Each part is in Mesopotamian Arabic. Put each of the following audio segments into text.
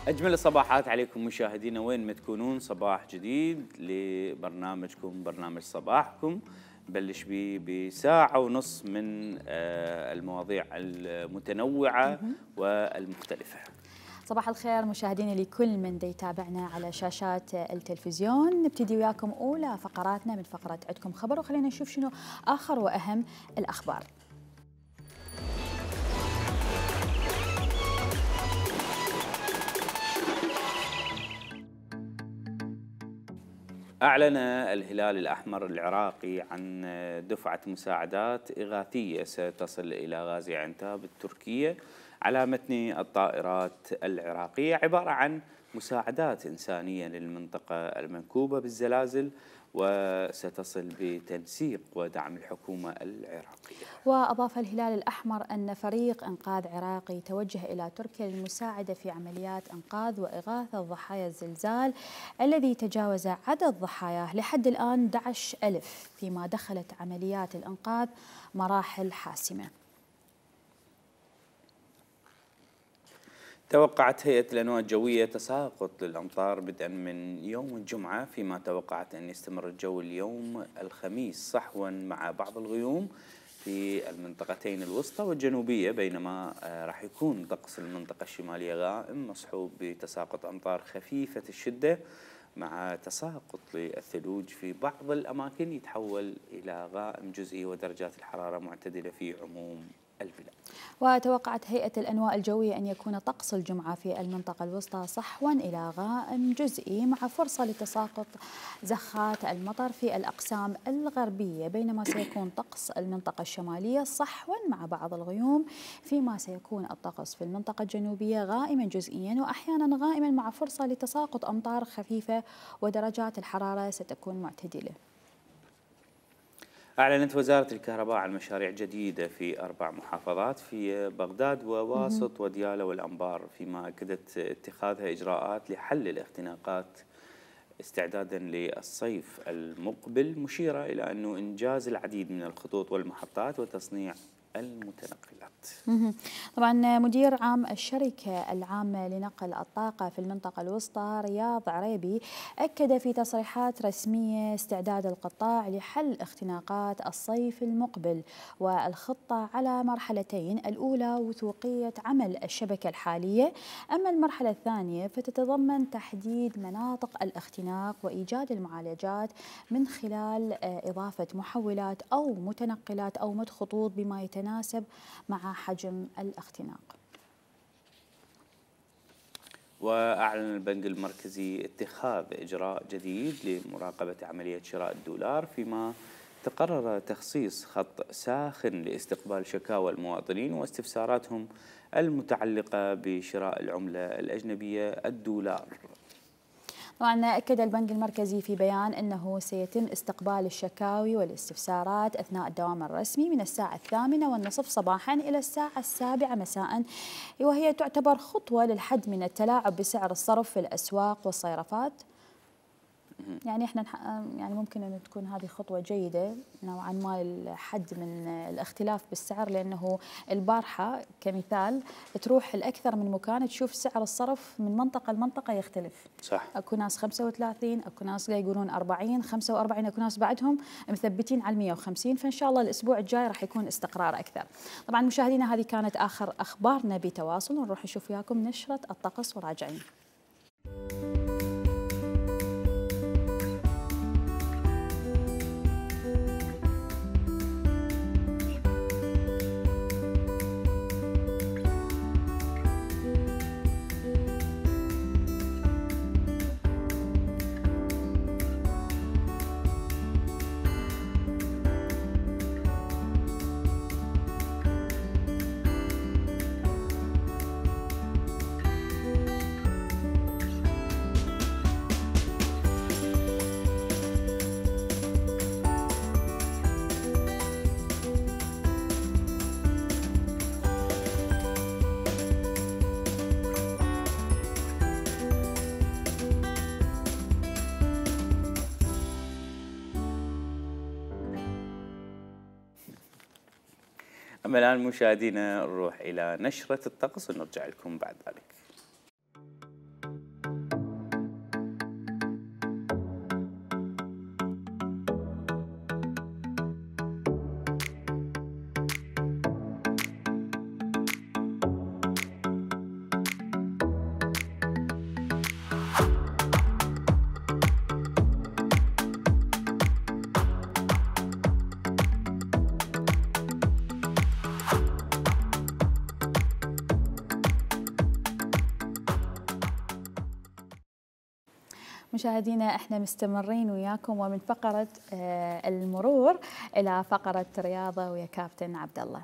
أجمل الصباحات عليكم مشاهدينا وين ما تكونون. صباح جديد لبرنامجكم برنامج صباحكم، بلش بساعة ونص من المواضيع المتنوعة والمختلفة. صباح الخير مشاهدينا لكل من يتابعنا على شاشات التلفزيون. نبتدي وياكم أولى فقراتنا من فقرة عندكم خبر، وخلينا نشوف شنو آخر وأهم الأخبار. أعلن الهلال الأحمر العراقي عن دفعة مساعدات إغاثية ستصل إلى غازي عنتاب التركية على متن الطائرات العراقية، عبارة عن مساعدات إنسانية للمنطقة المنكوبة بالزلازل، وستصل بتنسيق ودعم الحكومة العراقية. وأضاف الهلال الأحمر أن فريق إنقاذ عراقي توجه إلى تركيا للمساعدة في عمليات إنقاذ وإغاثة ضحايا الزلزال الذي تجاوز عدد ضحاياه لحد الآن 11,000، فيما دخلت عمليات الإنقاذ مراحل حاسمة. توقعت هيئة الأنواع الجوية تساقط للأمطار بدءا من يوم الجمعة، فيما توقعت أن يستمر الجو اليوم الخميس صحوا مع بعض الغيوم في المنطقتين الوسطى والجنوبية، بينما راح يكون طقس المنطقة الشمالية غائم مصحوب بتساقط أمطار خفيفة الشدة مع تساقط للثلوج في بعض الأماكن يتحول إلى غائم جزئي، ودرجات الحرارة معتدلة في عموم البلاد. وتوقعت هيئة الأنواع الجوية أن يكون طقس الجمعة في المنطقة الوسطى صحوا إلى غائم جزئي مع فرصة لتساقط زخات المطر في الأقسام الغربية، بينما سيكون طقس المنطقة الشمالية صحوا مع بعض الغيوم، فيما سيكون الطقس في المنطقة الجنوبية غائما جزئيا وأحيانا غائما مع فرصة لتساقط أمطار خفيفة، ودرجات الحرارة ستكون معتدلة. أعلنت وزارة الكهرباء عن مشاريع جديدة في 4 محافظات في بغداد وواسط وديالى والأنبار، فيما أكدت اتخاذها إجراءات لحل الاختناقات استعدادا للصيف المقبل، مشيرة إلى أنه إنجاز العديد من الخطوط والمحطات وتصنيع المتنقلات. طبعا مدير عام الشركة العامة لنقل الطاقة في المنطقة الوسطى رياض عريبي أكد في تصريحات رسمية استعداد القطاع لحل اختناقات الصيف المقبل، والخطة على مرحلتين: الأولى وثوقية عمل الشبكة الحالية، أما المرحلة الثانية فتتضمن تحديد مناطق الاختناق وإيجاد المعالجات من خلال إضافة محولات أو متنقلات أو مد خطوط بما يتناسب مع حجم الاختناق. وأعلن البنك المركزي اتخاذ إجراء جديد لمراقبة عملية شراء الدولار، فيما تقرر تخصيص خط ساخن لاستقبال شكاوى المواطنين واستفساراتهم المتعلقة بشراء العملة الأجنبية الدولار. طبعا أكد البنك المركزي في بيان أنه سيتم استقبال الشكاوي والاستفسارات أثناء الدوام الرسمي من الساعة 8:30 صباحا إلى الساعة 7 مساء، وهي تعتبر خطوة للحد من التلاعب بسعر الصرف في الأسواق والصيرفات. يعني احنا يعني ممكن ان تكون هذه خطوه جيده نوعا ما للحد من الاختلاف بالسعر، لانه البارحه كمثال تروح لاكثر من مكان تشوف سعر الصرف من منطقه لمنطقه يختلف. صح. اكو ناس 35، اكو ناس يقولون 40 45، اكو ناس بعدهم مثبتين على 150، فان شاء الله الاسبوع الجاي راح يكون استقرار اكثر. طبعا مشاهدينا هذه كانت اخر اخبارنا بتواصل، ونروح نشوف وياكم نشره الطقس وراجعين. أما الآن مشاهدينا نروح إلى نشرة الطقس ونرجع لكم بعد ذلك. مشاهدينا احنا مستمرين وياكم ومن فقرة المرور إلى فقرة رياضة ويا كابتن عبد الله.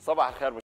صباح الخير.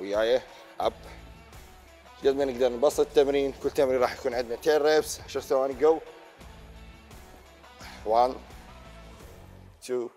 وياي اب قد ما نقدر نبسط التمرين. كل تمرين راح يكون عندنا 10 ريبس 10 ثواني جو. 1 2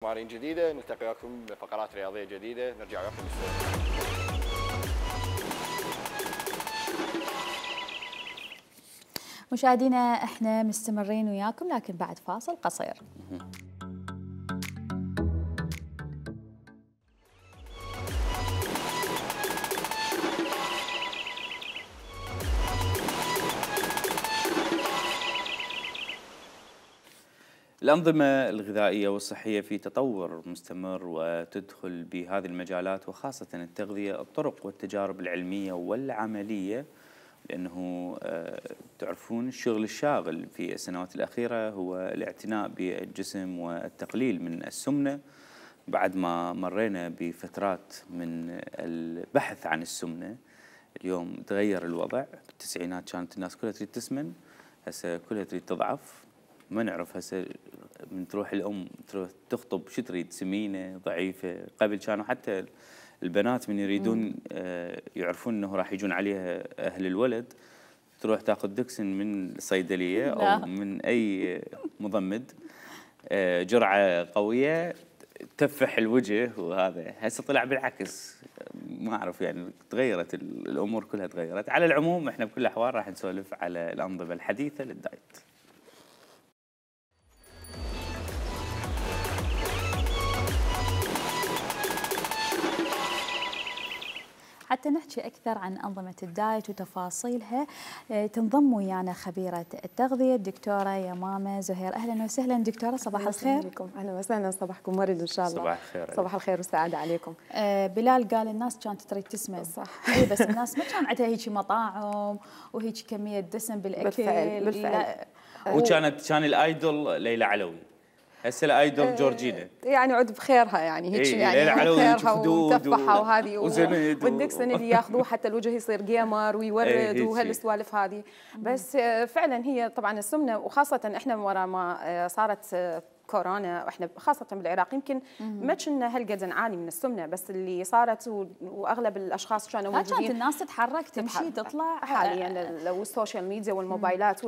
تمارين جديده، نلتقي وياكم بفقرات رياضيه جديده، نرجع وياكم بالسلامه. مشاهدينا احنا مستمرين وياكم لكن بعد فاصل قصير. الأنظمة الغذائية والصحية في تطور مستمر، وتدخل بهذه المجالات وخاصة التغذية الطرق والتجارب العلمية والعملية، لأنه تعرفون الشغل الشاغل في السنوات الأخيرة هو الاعتناء بالجسم والتقليل من السمنة. بعد ما مرينا بفترات من البحث عن السمنة، اليوم تغير الوضع. بالتسعينات كانت الناس كلها تريد تسمن، هسه كلها تريد تضعف. ما نعرف هسه من تروح الأم تروح تخطب شو تريد، سمينة ضعيفة. قبل كانوا حتى البنات من يريدون يعرفون أنه راح يجون عليها أهل الولد، تروح تاخذ دكسن من الصيدلية أو من أي مضمد، جرعة قوية تفح الوجه. وهذا هسه طلع بالعكس. ما أعرف يعني تغيرت الأمور كلها تغيرت. على العموم احنا بكل الأحوال راح نسولف على الأنظمة الحديثة للدايت. حتى نحكي أكثر عن أنظمة الدايت وتفاصيلها تنضم ويانا خبيرة التغذية الدكتورة يمامة زهير. أهلا وسهلا دكتورة، صباح الخير. أهلا وسهلا، صباحكم ورد إن شاء الله. صباح الخير. صباح الخير والسعادة عليكم. بلال قال الناس كانت تريد تسمن، صح. إيه بس الناس ما كان عندها هيك مطاعم وهيك كمية دسم بالأكل. بالفعل. كان الآيدول ليلى علوي، هسه الايدول جورجينا، يعني عد بخيرها يعني هيك يعني بخيرها ومتفحه وهذه والدكسن اللي ياخذوه حتى الوجه يصير جيمر ويورد وهالسوالف هذه. بس فعلا هي طبعا السمنه، وخاصه احنا ورا ما صارت كورونا، واحنا خاصه بالعراق يمكن ما كنا هالقد نعاني من السمنه، بس اللي صارت واغلب الاشخاص كانوا موجودين. كانت الناس تتحرك تمشي تطلع حاليا لو السوشيال ميديا والموبايلات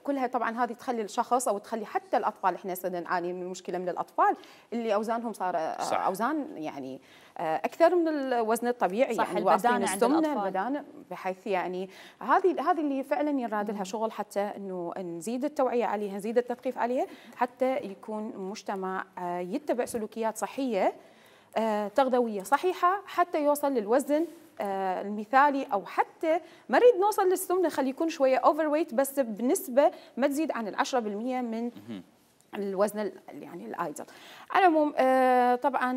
كلها طبعا هذه تخلي الشخص او تخلي حتى الاطفال. احنا صرنا نعاني من المشكله من الاطفال اللي اوزانهم صار اوزان يعني اكثر من الوزن الطبيعي، صح. يعني البدانه عند الأطفال، البدانه، بحيث يعني هذه اللي فعلا يراد لها شغل، حتى انه نزيد التوعيه عليها، نزيد التثقيف عليها، حتى يكون مجتمع يتبع سلوكيات صحيه تغذويه صحيحه، حتى يوصل للوزن المثالي، او حتى ما نريد نوصل للسمنه، خلي يكون شويه اوفر ويت بس بنسبه ما تزيد عن 10% من الوزن يعني الايدل. على العموم طبعا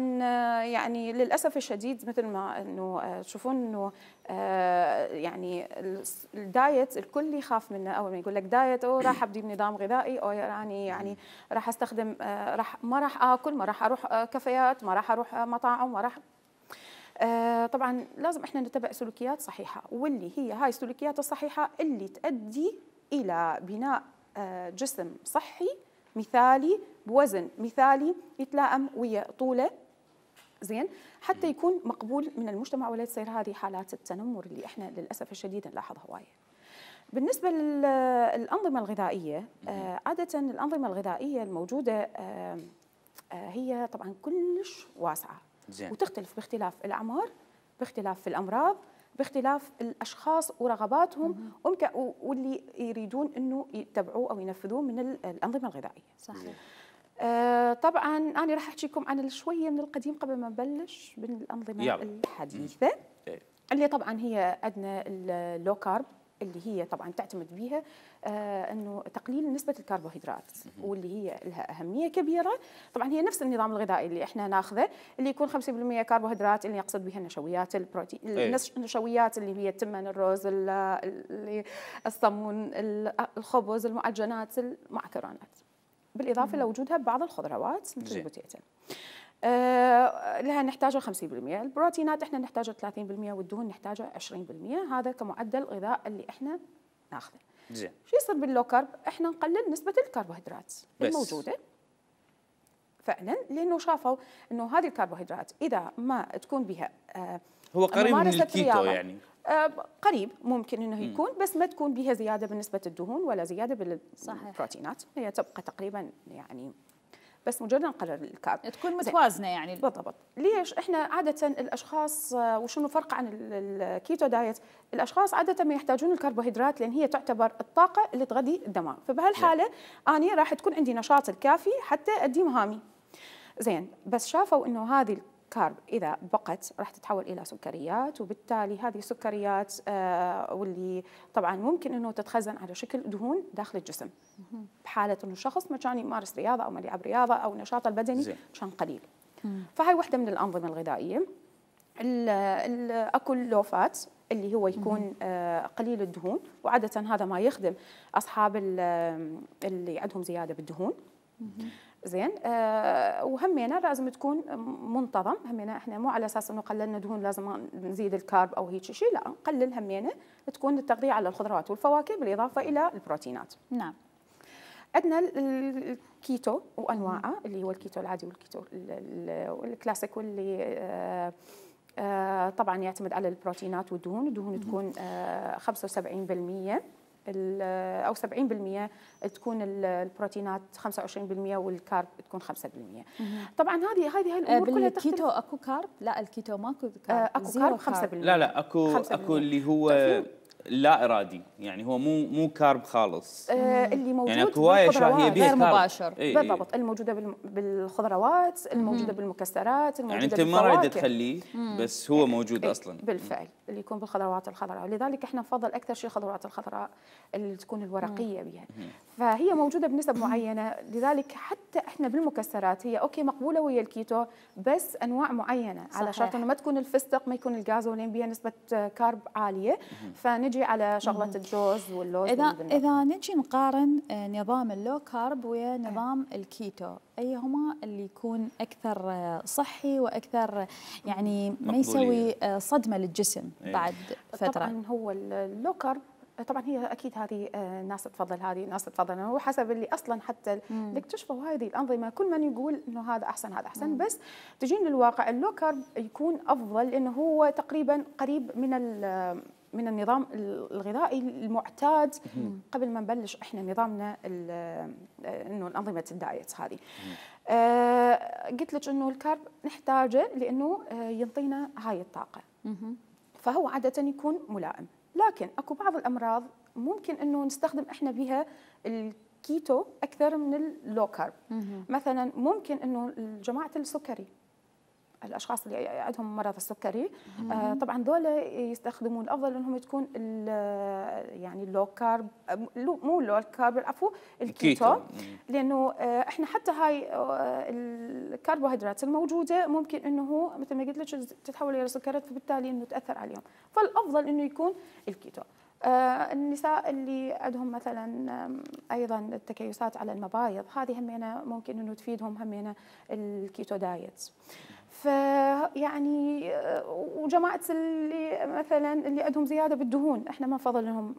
يعني للاسف الشديد مثل ما انه تشوفون انه يعني الدايت الكل يخاف منه. اول ما يقول لك دايت او راح ابدي بنظام غذائي، او يعني راح استخدم ما راح اكل، ما راح اروح كافيات، ما راح اروح مطاعم، ما راح طبعا لازم احنا نتبع سلوكيات صحيحه، واللي هي هاي السلوكيات الصحيحه اللي تؤدي الى بناء جسم صحي مثالي بوزن مثالي يتلائم ويا طوله زين، حتى يكون مقبول من المجتمع، ولا تصير هذه حالات التنمر اللي احنا للاسف الشديد نلاحظها هوايه. بالنسبه للانظمه الغذائيه، عاده الانظمه الغذائيه الموجوده هي طبعا كلش واسعه وتختلف باختلاف الاعمار، باختلاف الامراض، باختلاف الاشخاص ورغباتهم واللي يريدون انه يتبعوه او ينفذوه من الانظمه الغذائيه. صحيح. طبعا انا راح احكيكم عن شويه من القديم قبل ما نبلش بالانظمه الحديثه، اللي طبعا هي عندنا اللو كارب، اللي هي طبعا تعتمد بها انه تقليل نسبه الكربوهيدرات، واللي هي لها اهميه كبيره. طبعا هي نفس النظام الغذائي اللي احنا ناخذه، اللي يكون 50% كربوهيدرات، اللي يقصد بها النشويات، البروتين، النشويات اللي هي التمن، الرز، الصمون، الخبز، المعجنات، المعكرونات، بالاضافه لوجودها ببعض الخضروات مثل البوتيتا. لها نحتاجه 50%، البروتينات احنا نحتاجه 30%، والدهون نحتاجه 20%. هذا كمعدل غذاء اللي احنا ناخذه. زين. شو يصير باللو كارب؟ احنا نقلل نسبه الكربوهيدرات الموجوده فعلا، لانه شافوا انه هذه الكربوهيدرات اذا ما تكون بها هو قريب من الكيتو يعني قريب ممكن انه يكون، بس ما تكون بها زياده بنسبه الدهون ولا زياده بالبروتينات، هي تبقى تقريبا يعني بس مجرد نقلل الكارب تكون متوازنه يعني. بالضبط. ليش احنا عاده الاشخاص وشنو فرق عن الكيتو دايت؟ الاشخاص عاده ما يحتاجون الكربوهيدرات لان هي تعتبر الطاقه اللي تغذي الدماغ، فبهالحاله اني راح تكون عندي نشاط الكافي حتى ادي مهامي. زين، بس شافوا انه هذه الكارب اذا بقت راح تتحول الى سكريات، وبالتالي هذه السكريات واللي طبعا ممكن انه تتخزن على شكل دهون داخل الجسم بحاله انه الشخص ما كان يمارس رياضه او ما يلعب رياضه او النشاط البدني كان قليل. فهي واحده من الانظمه الغذائيه. اكو اللوفات اللي هو يكون قليل الدهون، وعاده هذا ما يخدم اصحاب اللي عندهم زياده بالدهون. زين، وهمينا لازم تكون منتظم. همينا احنا مو على اساس انه قللنا دهون لازم نزيد الكارب او هيك شيء، لا، نقلل همينا تكون التغذيه على الخضروات والفواكه بالاضافه الى البروتينات. نعم. عندنا الكيتو وانواعه، اللي هو الكيتو العادي والكيتو الكلاسيك، واللي طبعا يعتمد على البروتينات والدهون. الدهون تكون 75% أو 70%، تكون البروتينات 25%، والكارب تكون 5%. طبعا هذه الامور كلها تختلف. بالكيتو اكو كارب؟ لا، الكيتو ماكو كارب. اكو كارب 5%. لا اكو اللي هو لا ارادي، يعني هو مو كارب خالص. اللي موجود يعني اكو هوايه اشياء هي بيها غير مباشر. بالضبط، الموجوده بالخضروات، الموجوده بالمكسرات، الموجوده يعني انت بالفواكه. ما رايد تخليه بس هو موجود اصلا. بالفعل اللي يكون بالخضروات الخضراء، ولذلك احنا نفضل اكثر شيء الخضروات الخضراء اللي تكون الورقيه بها. فهي موجوده بنسب معينه، لذلك حتى احنا بالمكسرات هي اوكي مقبوله ويا الكيتو، بس انواع معينه، على شرط انه ما تكون الفستق، ما يكون الجازولين بها نسبه كارب عاليه، فنجي على شغله الجوز واللوز. اذا نجي نقارن نظام اللو كارب ويا نظام الكيتو، ايهما اللي يكون اكثر صحي واكثر يعني ما يسوي صدمه للجسم بعد فتره؟ طبعا هو اللو كارب، طبعا هي اكيد هذه ناس تفضل هذه، ناس تفضل، هو حسب اللي اصلا حتى اللي اكتشفوا هذه الانظمه كل من يقول انه هذا احسن هذا احسن. بس تجين للواقع اللو كارب يكون افضل لانه هو تقريبا قريب من النظام الغذائي المعتاد قبل ما نبلش احنا نظامنا انه انظمه الدايت هذه. قلت لك انه الكارب نحتاجه لانه ينطينا هاي الطاقه، فهو عاده يكون ملائم. لكن اكو بعض الامراض ممكن انه نستخدم احنا بها الكيتو اكثر من اللو كارب. مثلا ممكن انه جماعه السكري، الاشخاص اللي عندهم مرض السكري، طبعا ذولا يستخدمون الافضل انهم تكون يعني اللو كارب، مو اللو كارب، العفو، الكيتو. لانه احنا حتى هاي الكربوهيدرات الموجوده ممكن انه مثل ما قلت لك تتحول الى سكريات، فبالتالي انه تاثر عليهم، فالافضل انه يكون الكيتو. النساء اللي عندهم مثلا ايضا التكيسات على المبايض، هذه همينه ممكن انه تفيدهم همينه الكيتو دايت. فيعني وجماعه اللي مثلا اللي عندهم زياده بالدهون، احنا ما نفضل لهم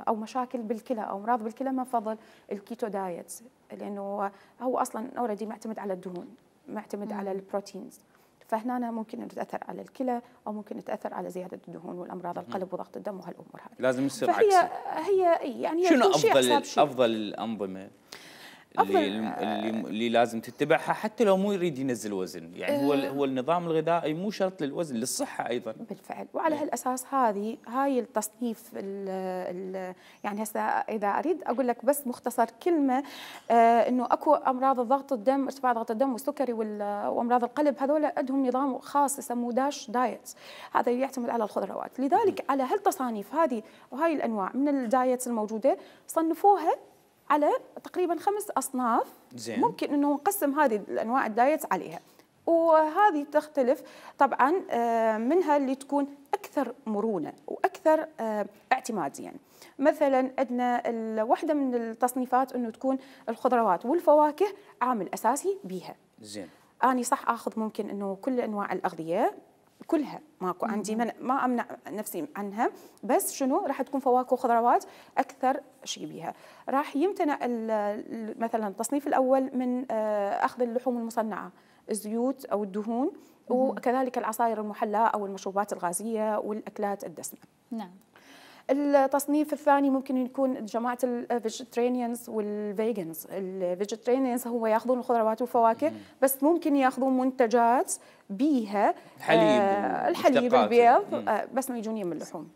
او مشاكل بالكلى او امراض بالكلى، ما نفضل الكيتو دايت، لانه هو اصلا اوريدي معتمد على الدهون، معتمد على البروتينز، فهنا ممكن ان تاثر على الكلى او ممكن تاثر على زياده الدهون والامراض القلب وضغط الدم وهالامور هذه. لازم يصير عكسي. فهي يعني شنو افضل الانظمه اللي لازم تتبعها حتى لو مو يريد ينزل وزن؟ يعني هو النظام الغذائي مو شرط للوزن، للصحه ايضا. بالفعل، وعلى هالاساس هاي التصنيف يعني هسه اذا اريد اقول لك بس مختصر كلمه، انه اكو امراض الضغط الدم، ارتفاع ضغط الدم والسكري وامراض القلب، هذول عندهم نظام خاص يسموه داش دايت، هذا يعتمد على الخضروات. لذلك على هالتصانيف هذه وهاي الانواع من الدايتس الموجوده صنفوها على تقريبا 5 أصناف. زين. ممكن انه نقسم هذه الانواع الدايت عليها، وهذه تختلف طبعا، منها اللي تكون اكثر مرونه واكثر اعتماديا. يعني مثلا عندنا واحده من التصنيفات انه تكون الخضروات والفواكه عامل اساسي بيها. زين. اني صح اخذ ممكن انه كل انواع الاغذيه كلها، ماكو عندي ما امنع نفسي عنها، بس شنو راح تكون فواكه وخضروات اكثر شيء بيها. راح يمتنع مثلا التصنيف الاول من اخذ اللحوم المصنعه، الزيوت او الدهون، وكذلك العصائر المحلاه او المشروبات الغازيه والاكلات الدسمه. نعم. التصنيف الثاني ممكن يكون جماعه الفيجيترينيانز والفيجنز. الفيجيترينيانز هو ياخذون الخضروات والفواكه بس ممكن ياخذون منتجات بيها الحليب البيض بس ما يجون يم اللحوم.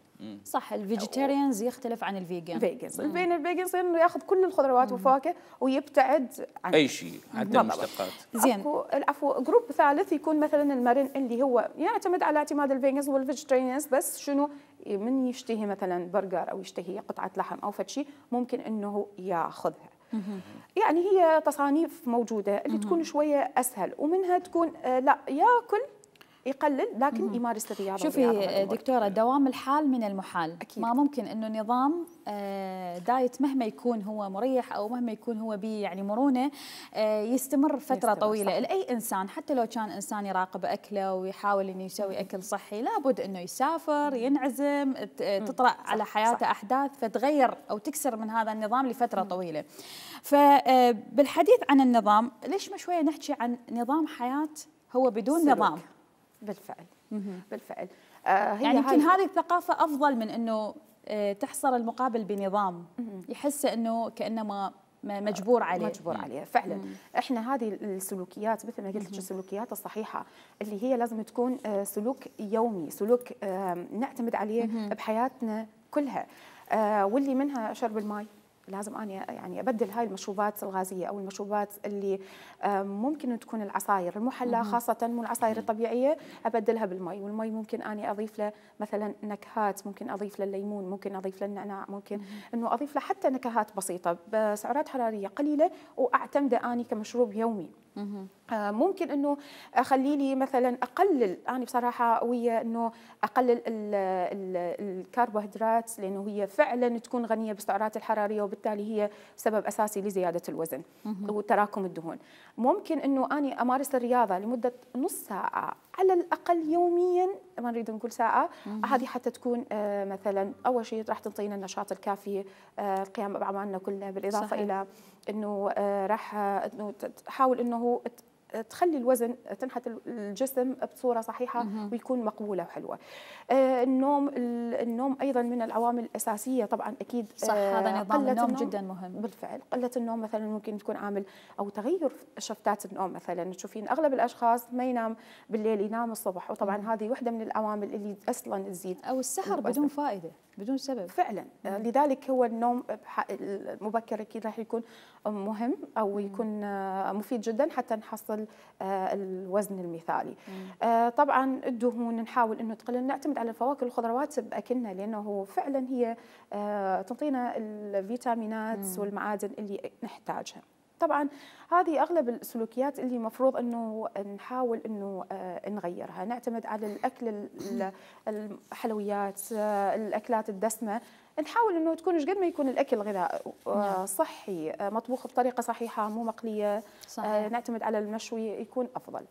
صح. الفيجيتيريانز يختلف عن الفيجن. بين الفيجنز انه ياخذ كل الخضروات والفواكه ويبتعد عن اي شيء حتى المشتقات. زين. العفو. جروب ثالث يكون مثلا المرن اللي هو يعتمد على اعتماد الفيجنز والفيجيتيريانز بس شنو من يشتهي مثلا برجر او يشتهي قطعه لحم او فد شيء ممكن انه ياخذها. يعني هي تصانيف موجوده اللي تكون شويه اسهل ومنها تكون لا ياكل يقلل لكن يمارس الرياضه. شوفي دكتوره، دوام الحال من المحال. أكيد. ما ممكن انه نظام دايت مهما يكون هو مريح او مهما يكون هو بيه يعني مرونه يستمر فتره طويله. لاي انسان حتى لو كان انسان يراقب اكله ويحاول انه يسوي اكل صحي لابد انه يسافر ينعزم تطرأ على حياته احداث فتغير او تكسر من هذا النظام لفتره طويله. فبالحديث عن النظام ليش ما شويه نحكي عن نظام حياه هو بدون سلوك. نظام. بالفعل. بالفعل. هي يعني يمكن هذه الثقافة أفضل من أنه تحصر المقابل بنظام يحس أنه كأنه مجبور عليه. مجبور عليه فعلا. احنا هذه السلوكيات مثل ما قلت لك السلوكيات الصحيحة اللي هي لازم تكون سلوك يومي، سلوك نعتمد عليه بحياتنا كلها. واللي منها شرب الماء. لازم أنا يعني أبدل هاي المشروبات الغازية أو المشروبات اللي ممكن تكون العصاير المحلى خاصة مو العصاير الطبيعية أبدلها بالمي. والمي ممكن أنا أضيف له مثلا نكهات، ممكن أضيف له الليمون، ممكن أضيف له النعناع، ممكن إنه أضيف له حتى نكهات بسيطة بسعرات حرارية قليلة وأعتمده أنا كمشروب يومي. ممكن انه اخلي لي مثلا اقلل انا بصراحه ويا انه اقلل الكربوهيدرات لانه هي فعلا تكون غنيه بالسعرات الحراريه وبالتالي هي سبب اساسي لزياده الوزن وتراكم الدهون. ممكن انه اني امارس الرياضه لمده نص ساعه على الاقل يوميا، ما نريد نقول ساعه. هذه حتى تكون مثلا اول شيء راح تعطينا النشاط الكافي القيام باعمالنا كلها، بالاضافه صحيح. الى انه راح انه تحاول انه تخلي الوزن تنحت الجسم بصوره صحيحه ويكون مقبوله وحلوه. النوم ايضا من العوامل الاساسيه طبعا اكيد. صح. هذا نظام النوم جدا مهم. بالفعل. قله النوم مثلا ممكن تكون عامل او تغير شفتات النوم. مثلا تشوفين اغلب الاشخاص ما ينام بالليل ينام الصبح، وطبعا هذه واحده من العوامل اللي اصلا تزيد او السهر بدون فائده بدون سبب فعلا. لذلك هو النوم المبكر اكيد راح يكون مهم او يكون مفيد جدا حتى نحصل الوزن المثالي. طبعا الدهون نحاول انه تقلل، نعتمد على الفواكه والخضروات باكلنا لانه فعلا هي تعطينا الفيتامينات والمعادن اللي نحتاجها. طبعا هذه اغلب السلوكيات اللي المفروض انه نحاول انه نغيرها. نعتمد على الاكل الحلويات، الاكلات الدسمه، نحاول انه تكون ايش قد ما يكون الاكل غذاء صحي مطبوخ بطريقه صحيحه مو مقليه. نعتمد على المشوي يكون افضل.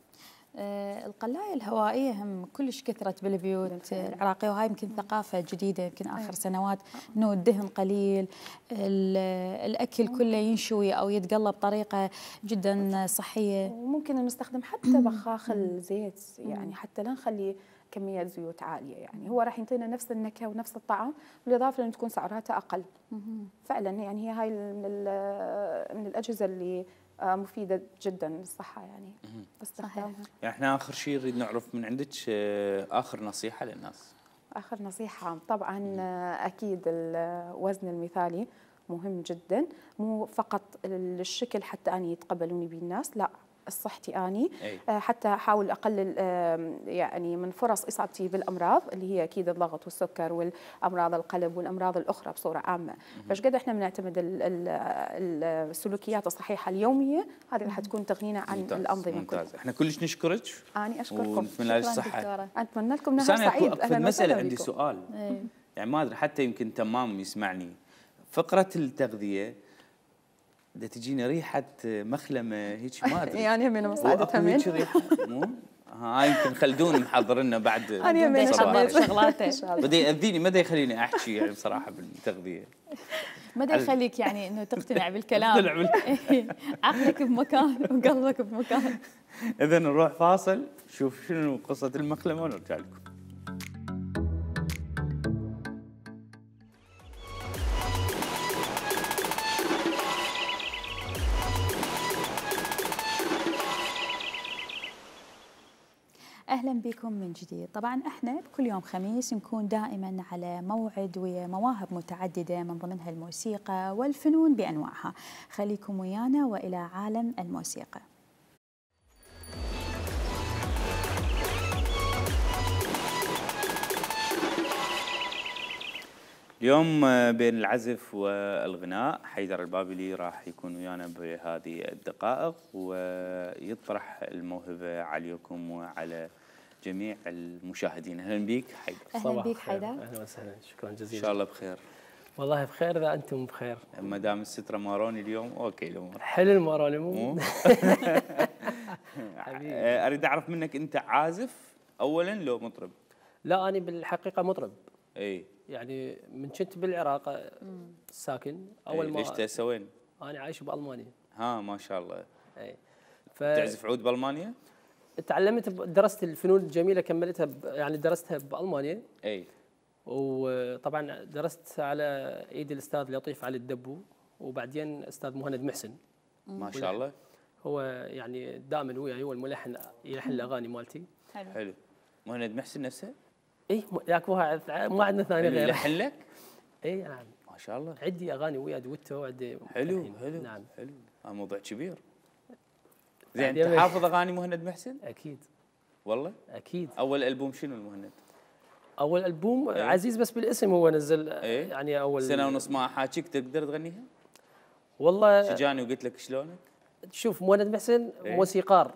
القلاية الهوائية هم كلش كثرت بالبيوت العراقية، وهاي يمكن ثقافة جديدة يمكن آخر سنوات، إنه الدهن قليل، الأكل كله ينشوي أو يتقلى بطريقة جدا صحية. وممكن نستخدم حتى بخاخ الزيت يعني حتى لا نخلي كمية زيوت عالية، يعني هو راح يعطينا نفس النكهة ونفس الطعم بالإضافة لأن تكون سعراتها أقل. فعلا يعني هي هاي من الأجهزة اللي مفيدة جدا للصحة يعني استخدامها. يعني احنا آخر شيء نريد نعرف من عندك آخر نصيحة للناس. آخر نصيحة طبعا أكيد الوزن المثالي مهم جدا، مو فقط للشكل حتى أني يتقبلوني به الناس، لا صحتي اني حتى احاول اقلل يعني من فرص اصابتي بالامراض اللي هي اكيد الضغط والسكر والامراض القلب والامراض الاخرى بصوره عامه. فايش قد احنا بنعتمد السلوكيات الصحيحه اليوميه هذه راح تكون تغنينا عن الانظمه كلها. احنا كلش نشكرك. اني اشكركم. ونتمنى لك الصحه. اتمنى لكم نهار سعيد. في المساله عندي سؤال يعني ما ادري حتى يمكن تمام يسمعني. فقره التغذيه دا تجينا ريحة مخلمة هيك ما ادري يعني من مصعدتها من ريحة مو هاي يمكن خلدون محضر لنا بعد انا من حضرت شغلاته بدا يأذيني ما دا يخليني احكي يعني بصراحة بالتغذية ما دا يخليك يعني انه تقتنع بالكلام عقلك بمكان وقلبك بمكان. اذا نروح فاصل شوف شنو قصة المخلمة ونرجع لكم. وأهلا بكم من جديد. طبعا احنا بكل يوم خميس نكون دائما على موعد ويا مواهب متعددة من ضمنها الموسيقى والفنون بأنواعها. خليكم ويانا وإلى عالم الموسيقى. اليوم بين العزف والغناء حيدر البابلي راح يكون ويانا بهذه الدقائق ويطرح الموهبة عليكم وعلى جميع المشاهدين. اهلا بك حيدر. اهلا بك حيدر. اهلا وسهلا، شكرا جزيلا. ان شاء الله بخير. والله بخير اذا انتم بخير. ما دام السترة ماروني اليوم اوكي الامور. حلو الماروني مو؟ اريد اعرف منك انت عازف اولا لو مطرب؟ لا انا بالحقيقه مطرب. اي يعني من كنت بالعراق ساكن اول ما ليش تهسه وين؟ انا عايش بالمانيا. ها ما شاء الله. اي تعزف عود بالمانيا؟ تعلمت درست الفنون الجميله كملتها يعني درستها بالمانيا. اي وطبعا درست على ايد الاستاذ لطيف علي الدبو وبعدين استاذ مهند محسن. ما شاء الله. هو يعني دائما وياي هو الملحن يلحن الاغاني مالتي. حلو. مهند محسن نفسه؟ اي ياك ما عندنا ثاني غيره. يلحن لك؟ اي نعم. ما شاء الله. عندي اغاني ويا دويتو وعندي حلو. نعم حلو. موضوع كبير. زين انت حافظ اغاني مهند محسن؟ اكيد. والله؟ اكيد. اول البوم شنو المهند؟ اول البوم عزيز بس بالاسم هو نزل. يعني اول سنه ونص ما احاكيك تقدر تغنيها؟ والله شجاني وقلت لك شلونك؟ شوف مهند محسن موسيقار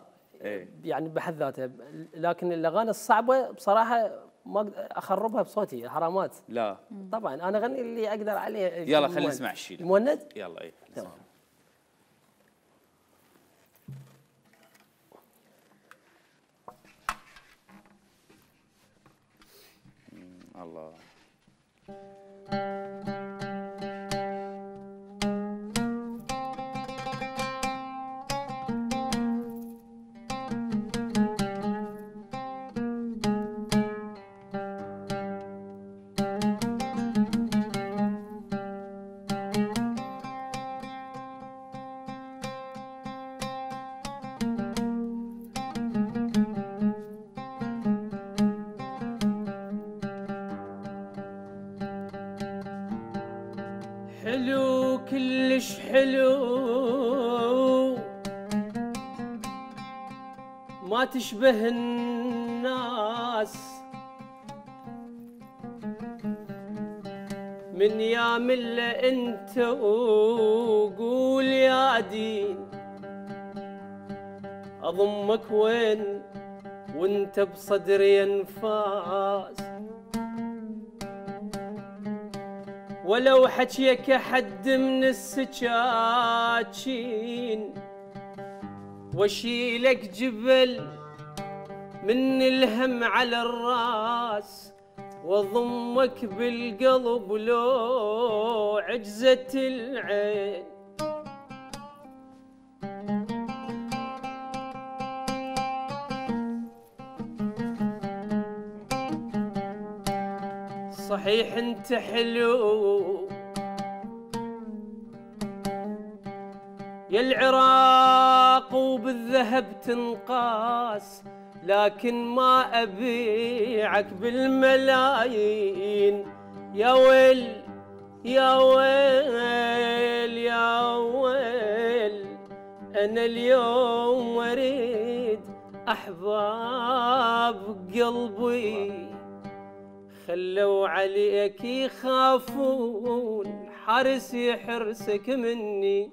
يعني بحد ذاته، لكن الاغاني الصعبه بصراحه ما اخربها بصوتي حرامات. لا طبعا انا اغني اللي اقدر عليه. يلا خلينا نسمع الشيء. المهند يلا. اي تمام. الله. حلو كلش حلو ما تشبه الناس من يا ملة انت وقول يا دين اضمك وين وانت بصدري انفاس ولو حكيك حد من السكاكين واشيلك جبل من الهم على الراس واضمك بالقلب لو عجزت العين صحيح انت حلو يا العراق وبالذهب تنقاس لكن ما ابيعك بالملايين يا ويل يا ويل يا ويل انا اليوم اريد احباب قلبي خلوا عليك يخافون حرس يحرسك مني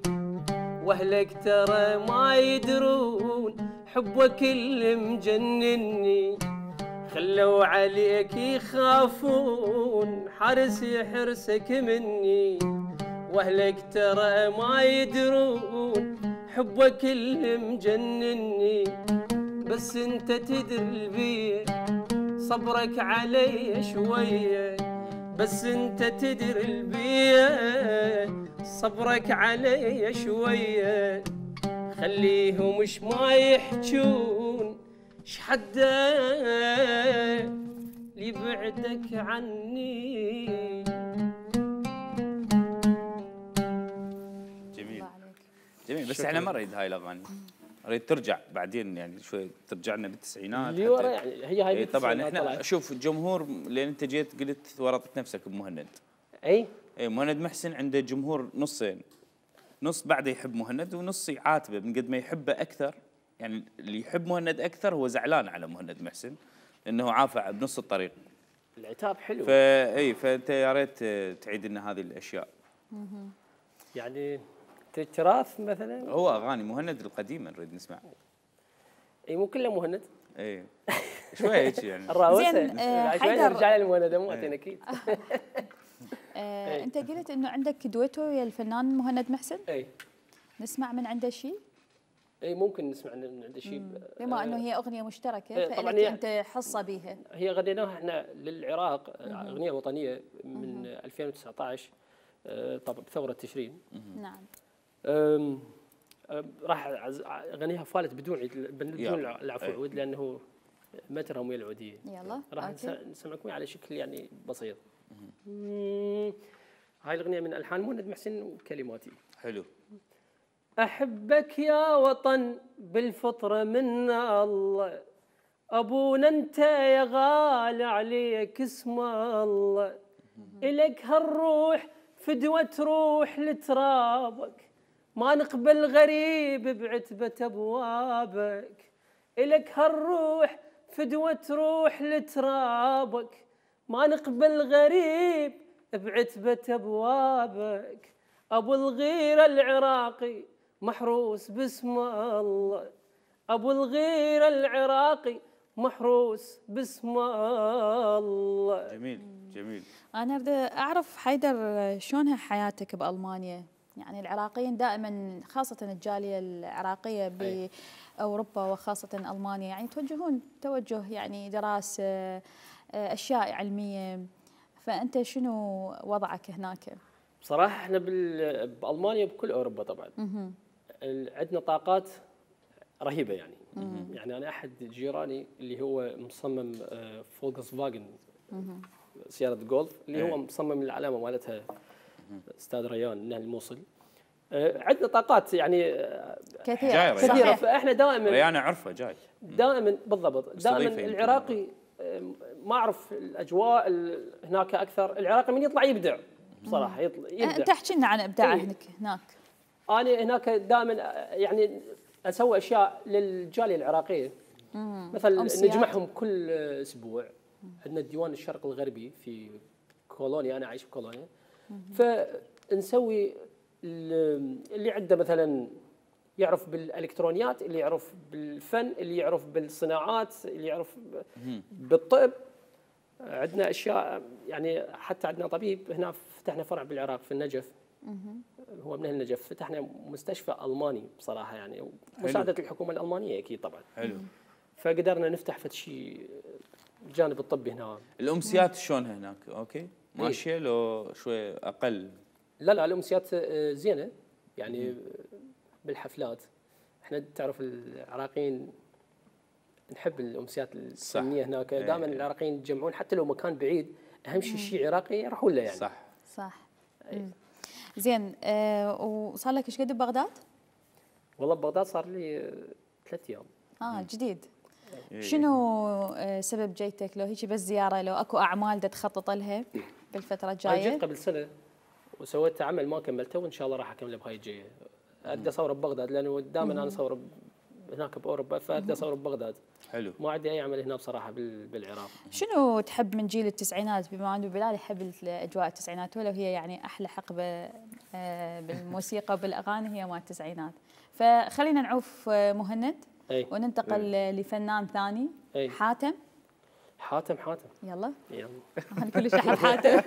واهلك ترى ما يدرون حبك اللي مجنني خلوا عليك يخافون حرس يحرسك مني واهلك ترى ما يدرون حبك اللي مجنني بس انت تدري بيه صبرك علي شوية بس انت تدري البيه صبرك علي شوية خليهم مش ما يحجون شحدا ليبعدك عني. جميل جميل بس احنا ما نريد هاي الاغاني اريد ترجع بعدين يعني شوي ترجع لنا بالتسعينات اللي ورا يعني هي هاي طبعا احنا شوف الجمهور لان انت جيت قلت ورطت نفسك بمهند. اي مهند محسن عنده جمهور نصين، نص بعده يحب مهند ونص يعاتبه من قد ما يحبه اكثر. يعني اللي يحب مهند اكثر هو زعلان على مهند محسن لانه عافى بنص الطريق. العتاب حلو. فانت يا ريت تعيد لنا هذه الاشياء. يعني تراث مثلا هو اغاني مهند القديمه نريد نسمع. اي مو كله مهند. اي شوي هيك يعني. الراوسه زين، شوي نرجع للمهند مو اكيد. انت قلت انه عندك دويتو ويا الفنان مهند محسن؟ اي نسمع من عنده شيء؟ اي ممكن نسمع من عنده شيء. بما انه هي اغنيه مشتركه طبعاً فلك انت حصه بيها. هي غنيناها احنا للعراق اغنيه وطنيه من 2019 طبعا بثوره تشرين. نعم. راح اغنيها فالت بدون العفو عود لانه مترهم ويا العوديه. يلا راح نسمعكم على شكل يعني بسيط. هاي الاغنيه من الحان مهند محسن وكلماتي. حلو. احبك يا وطن بالفطره من الله، ابونا انت يا غالي عليك اسم الله، الك هالروح فدوه تروح لترابك، ما نقبل غريب بعتبه ابوابك، الك هالروح فدوه تروح لترابك، ما نقبل غريب بعتبه ابوابك، ابو الغيره العراقي محروس باسم الله، ابو الغيره العراقي محروس باسم الله. جميل جميل. انا بدي اعرف حيدر شلونها حياتك بالمانيا؟ يعني العراقيين دائما خاصه الجاليه العراقيه باوروبا وخاصه المانيا يعني توجهون توجه يعني دراسه اشياء علميه، فانت شنو وضعك هناك؟ بصراحه احنا بالمانيا بكل اوروبا طبعا عندنا طاقات رهيبه يعني. يعني انا احد جيراني اللي هو مصمم فولكس فاجن سياره جولف اللي هو مصمم العلامه مالتها استاذ ريان نهل الموصل. عندنا طاقات يعني كثيره فاحنا دائما ريان اعرفه جاي دائما بالضبط دائما العراقي ما اعرف الاجواء هناك اكثر. العراقي من يطلع يبدع بصراحه يبدع. انت احكي لنا عن ابداعك هناك. انا هناك دائما يعني اسوي اشياء للجاليه العراقيه مثلا نجمعهم كل اسبوع. عندنا ديوان الشرق الغربي في كولونيا، انا عايش في كولونيا، فنسوي اللي عنده مثلا يعرف بالالكترونيات، اللي يعرف بالفن، اللي يعرف بالصناعات، اللي يعرف بالطب. عندنا اشياء يعني حتى عندنا طبيب هنا فتحنا فرع بالعراق في النجف، هو من النجف، فتحنا مستشفى الماني بصراحه يعني مساعده الحكومه الالمانيه اكيد طبعا. حلو. فقدرنا نفتح فد شيء الجانب الطبي هنا. الامسيات شلونها هناك؟ اوكي ماشيه لو شوي اقل؟ لا الامسيات زينه يعني بالحفلات. احنا تعرف العراقيين نحب الامسيات الفنيه هناك. دائما العراقيين يتجمعون حتى لو مكان بعيد، اهم شيء عراقي يروحون له يعني. صح. زين وصار لك ايش قد ببغداد؟ والله ببغداد صار لي 3 ايام. جديد. شنو سبب جيتك؟ لو هيك بس زياره، لو اكو اعمال تخطط لها بالفتره الجايه؟ جيت قبل سنه وسويت عمل ما كملته وان شاء الله راح اكمله بهاي الجايه. ادي اصور ببغداد لانه دائما انا اصور هناك باوروبا، فادي اصور ببغداد. حلو. ما عندي اي عمل هنا بصراحه بالعراق. شنو تحب من جيل التسعينات؟ بما انه بلال يحب اجواء التسعينات، ولو هي يعني احلى حقبه بالموسيقى وبالاغاني هي مال التسعينات. فخلينا نعوف مهند وننتقل لفنان ثاني. حاتم. يلا انا كل شيء حاتم.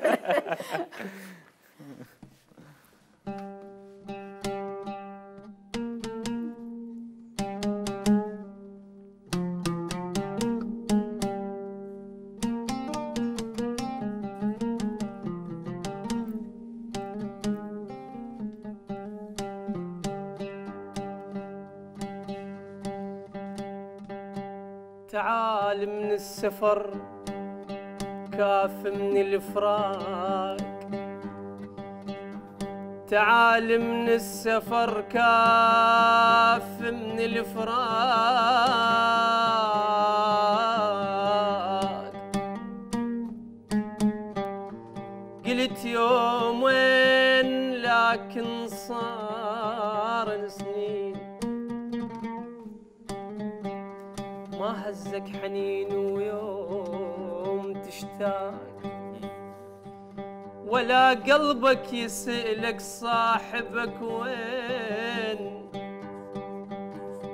تعال من السفر كاف من الفراق، تعال من السفر كاف من الفراق، قلت يوم وين لكن صار سنين، ما هزك حنين ويوم تشتاق، ولا قلبك يسألك صاحبك وين.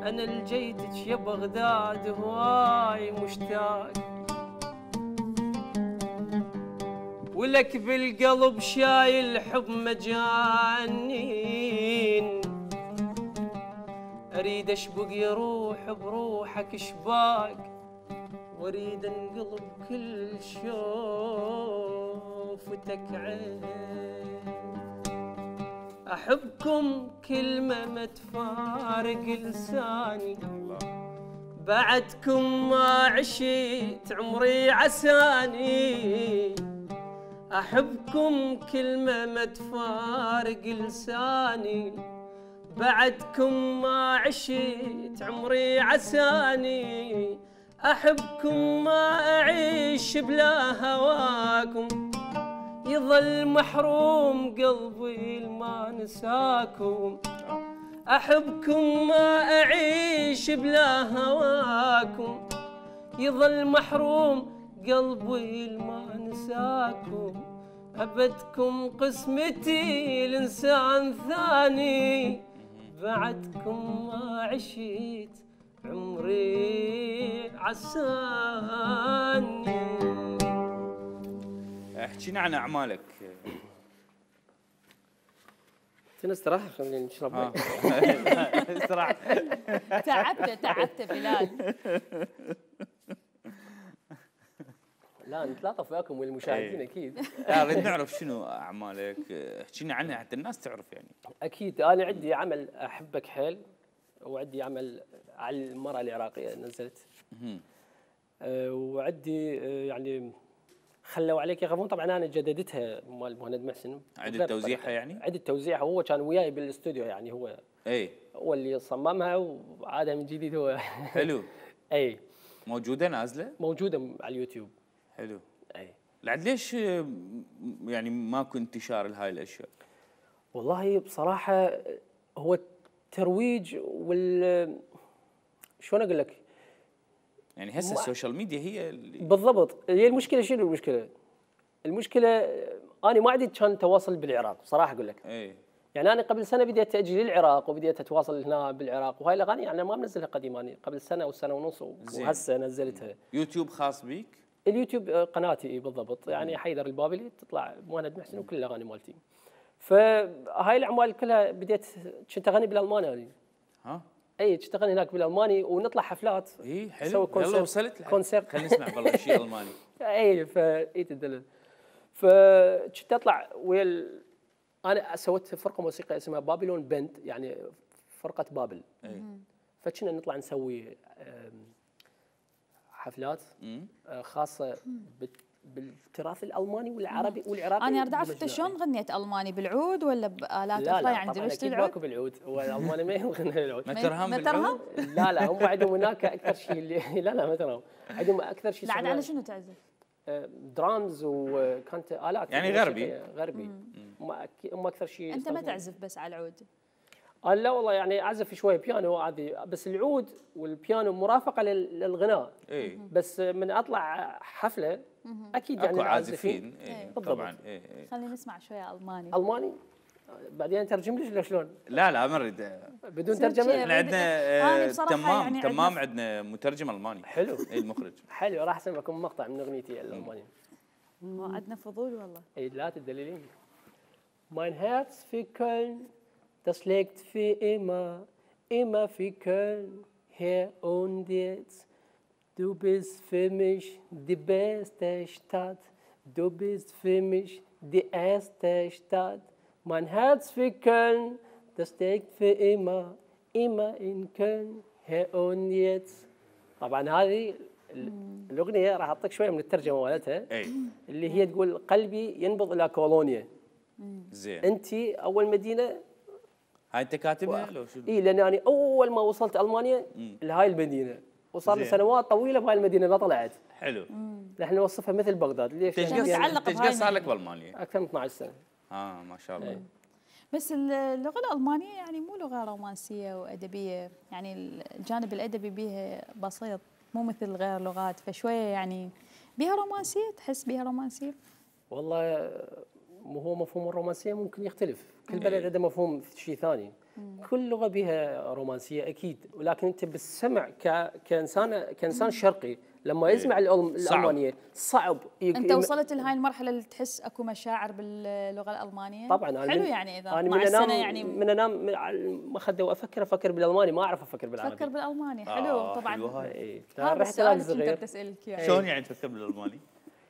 أنا لجيتك يا بغداد هواي مشتاق، ولك بالقلب شايل حب مجانين، أريد أشبق يا روح بروحك شباق، وأريد انقلب كل شوفتك عين. أحبكم كلمة ما تفارق لساني، بعدكم ما عشيت عمري عساني. أحبكم كلمة ما تفارق لساني، بعدكم ما عشيت عمري عساني. أحبكم ما أعيش بلا هواكم، يظل محروم قلبي ما نساكم. أحبكم ما أعيش بلا هواكم، يظل محروم قلبي ما نساكم. أبدكم قسمتي لإنسان ثاني، بعدكم ما عشيت عمري عساني. احكينا عن اعمالك. استراحة خلينا نشرب ماء. استراحة. تعبت بلال. لا نتلاطف وياكم والمشاهدين اكيد. نريد نعرف شنو اعمالك، احكينا عنها حتى الناس تعرف يعني. اكيد انا عندي عمل احبك حيل، وعندي عمل على المرأة العراقية نزلت. وعندي يعني خلوا عليك يخافون، طبعا انا جددتها مال مهند محسن. عدة توزيعها يعني؟ عدة توزيعها، هو كان وياي بالاستوديو يعني، هو هو اللي صممها وعادها من جديد هو. حلو. اي موجودة نازلة؟ موجودة على اليوتيوب. حلو. اي لعد ليش يعني ماكو انتشار لهاي الاشياء؟ والله بصراحة هو الترويج شلون اقول لك؟ يعني هسه السوشيال ميديا هي اللي بالضبط. هي المشكلة شنو المشكلة؟ المشكلة أنا ما عندي كان تواصل بالعراق بصراحة أقول لك. يعني أنا قبل سنة بديت أجي للعراق وبديت أتواصل هنا بالعراق، وهاي الأغاني يعني ما منزلها قديم، أنا قبل سنة وسنة ونص وهسه نزلتها. يوتيوب خاص بيك؟ اليوتيوب قناتي بالضبط، يعني حيدر البابلي تطلع مهند محسن وكل الأغاني مالتي. فهاي الأعمال كلها بديت كنت أغني بالألماني أنا. ها؟ اي كنت اغني هناك بالالماني ونطلع حفلات. اي حلو. يلا وصلت كونسرت. خلينا نسمع والله شيء الماني. اي فايت الدلل. فكنت اطلع انا سويت فرقه موسيقيه اسمها بابلون بند، يعني فرقه بابل. فكنا نطلع نسوي حفلات خاصه بالتراث الالماني والعربي والعراقي. انا اريد اعرف انت شلون غنيت الماني، بالعود ولا بالات اخرى؟ لا يعني درست العود؟ ماكو بالعود، هو الالماني ما يغني بالعود. ما ترهم بالعود؟ لا هم عندهم هناك اكثر شيء اللي لا ما ترهم، عندهم اكثر شيء. لا على شنو تعزف؟ درامز وكانت الات يعني غربي. هم اكثر شيء. انت ما تعزف بس على العود؟ لا والله يعني اعزف شوي بيانو عادي، بس العود والبيانو مرافقه للغناء. بس من اطلع حفله اكيد يعني عازفين طبعا. خلينا نسمع شويه الماني بعدين ترجم لي شلون؟ لا ما اريد بدون ترجمه. احنا عندنا تمام يعني تمام عندنا مترجم الماني. حلو. المخرج حلو. راح اسمعكم مقطع من اغنيتي الالمانيه. عندنا فضول والله. اي لا تدللين. Mein Herz für Köln, das schlägt für immer für Köln, hier und jetzt. Du bist für mich die beste Stadt, du bist für mich die erste Stadt. Mein Herz für Köln, das schlägt für immer in Köln, hier und jetzt. طبعا هذه الأغنية راح أعطيك شوية من الترجمة مالتها، اللي هي تقول قلبي ينبض إلى كولونيا. زين. انت اول مدينه هاي انت كاتبها لو شنو؟ اي لان انا اول ما وصلت المانيا لهاي المدينه وصار لي زين. سنوات طويله بهاي المدينه ما طلعت. حلو. نحن نوصفها مثل بغداد. ليش؟ تشقى متعلق بهاي تشقى صار لك المدينة. بالمانيا؟ اكثر من 12 سنه. ما شاء الله. بس اللغة الألمانية يعني مو لغة رومانسية وأدبية، يعني الجانب الأدبي بيها بسيط مو مثل غير لغات، فشوية يعني بيها رومانسية، تحس بيها رومانسية؟ والله هو مفهوم الرومانسيه ممكن يختلف، كل بلد عنده مفهوم شيء ثاني. كل لغه بها رومانسيه اكيد، ولكن انت بالسمع كانسان شرقي لما يسمع الالمانيه صعب أنت وصلت لهاي المرحلة اللي تحس أكو مشاعر باللغة الألمانية؟ طبعا أنا حلو يعني إذا أنا مع من السنة انام يعني من انام على المخده وافكر بالالماني، ما اعرف افكر بالعربي. تفكر بالألماني حلو طبعا. حلو هاي. إيه. هذا رحت السؤال هناك اللي كنت صغير. بتسألك إياه. شلون يعني تفكر بالالماني؟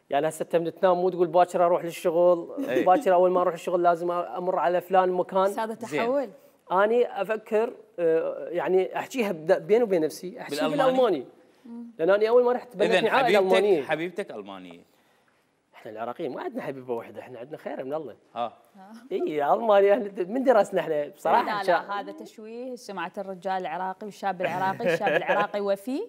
يعني هسه من تنام مو تقول باكر اروح للشغل، إيه. باكر اول ما اروح الشغل لازم امر على فلان مكان. بس هذا تحول. اني افكر يعني احكيها بيني وبين نفسي، احكيها بالألماني؟ بالالماني. لان اني اول ما رحت بنتني اذا عائله المانيه. حبيبتك المانيه. احنا العراقيين ما عندنا حبيبه واحده، احنا عندنا خير من الله. ها المانيا من درسنا احنا بصراحه. لا هذا تشويه سمعة الرجال العراقي والشاب العراقي، الشاب العراقي وفي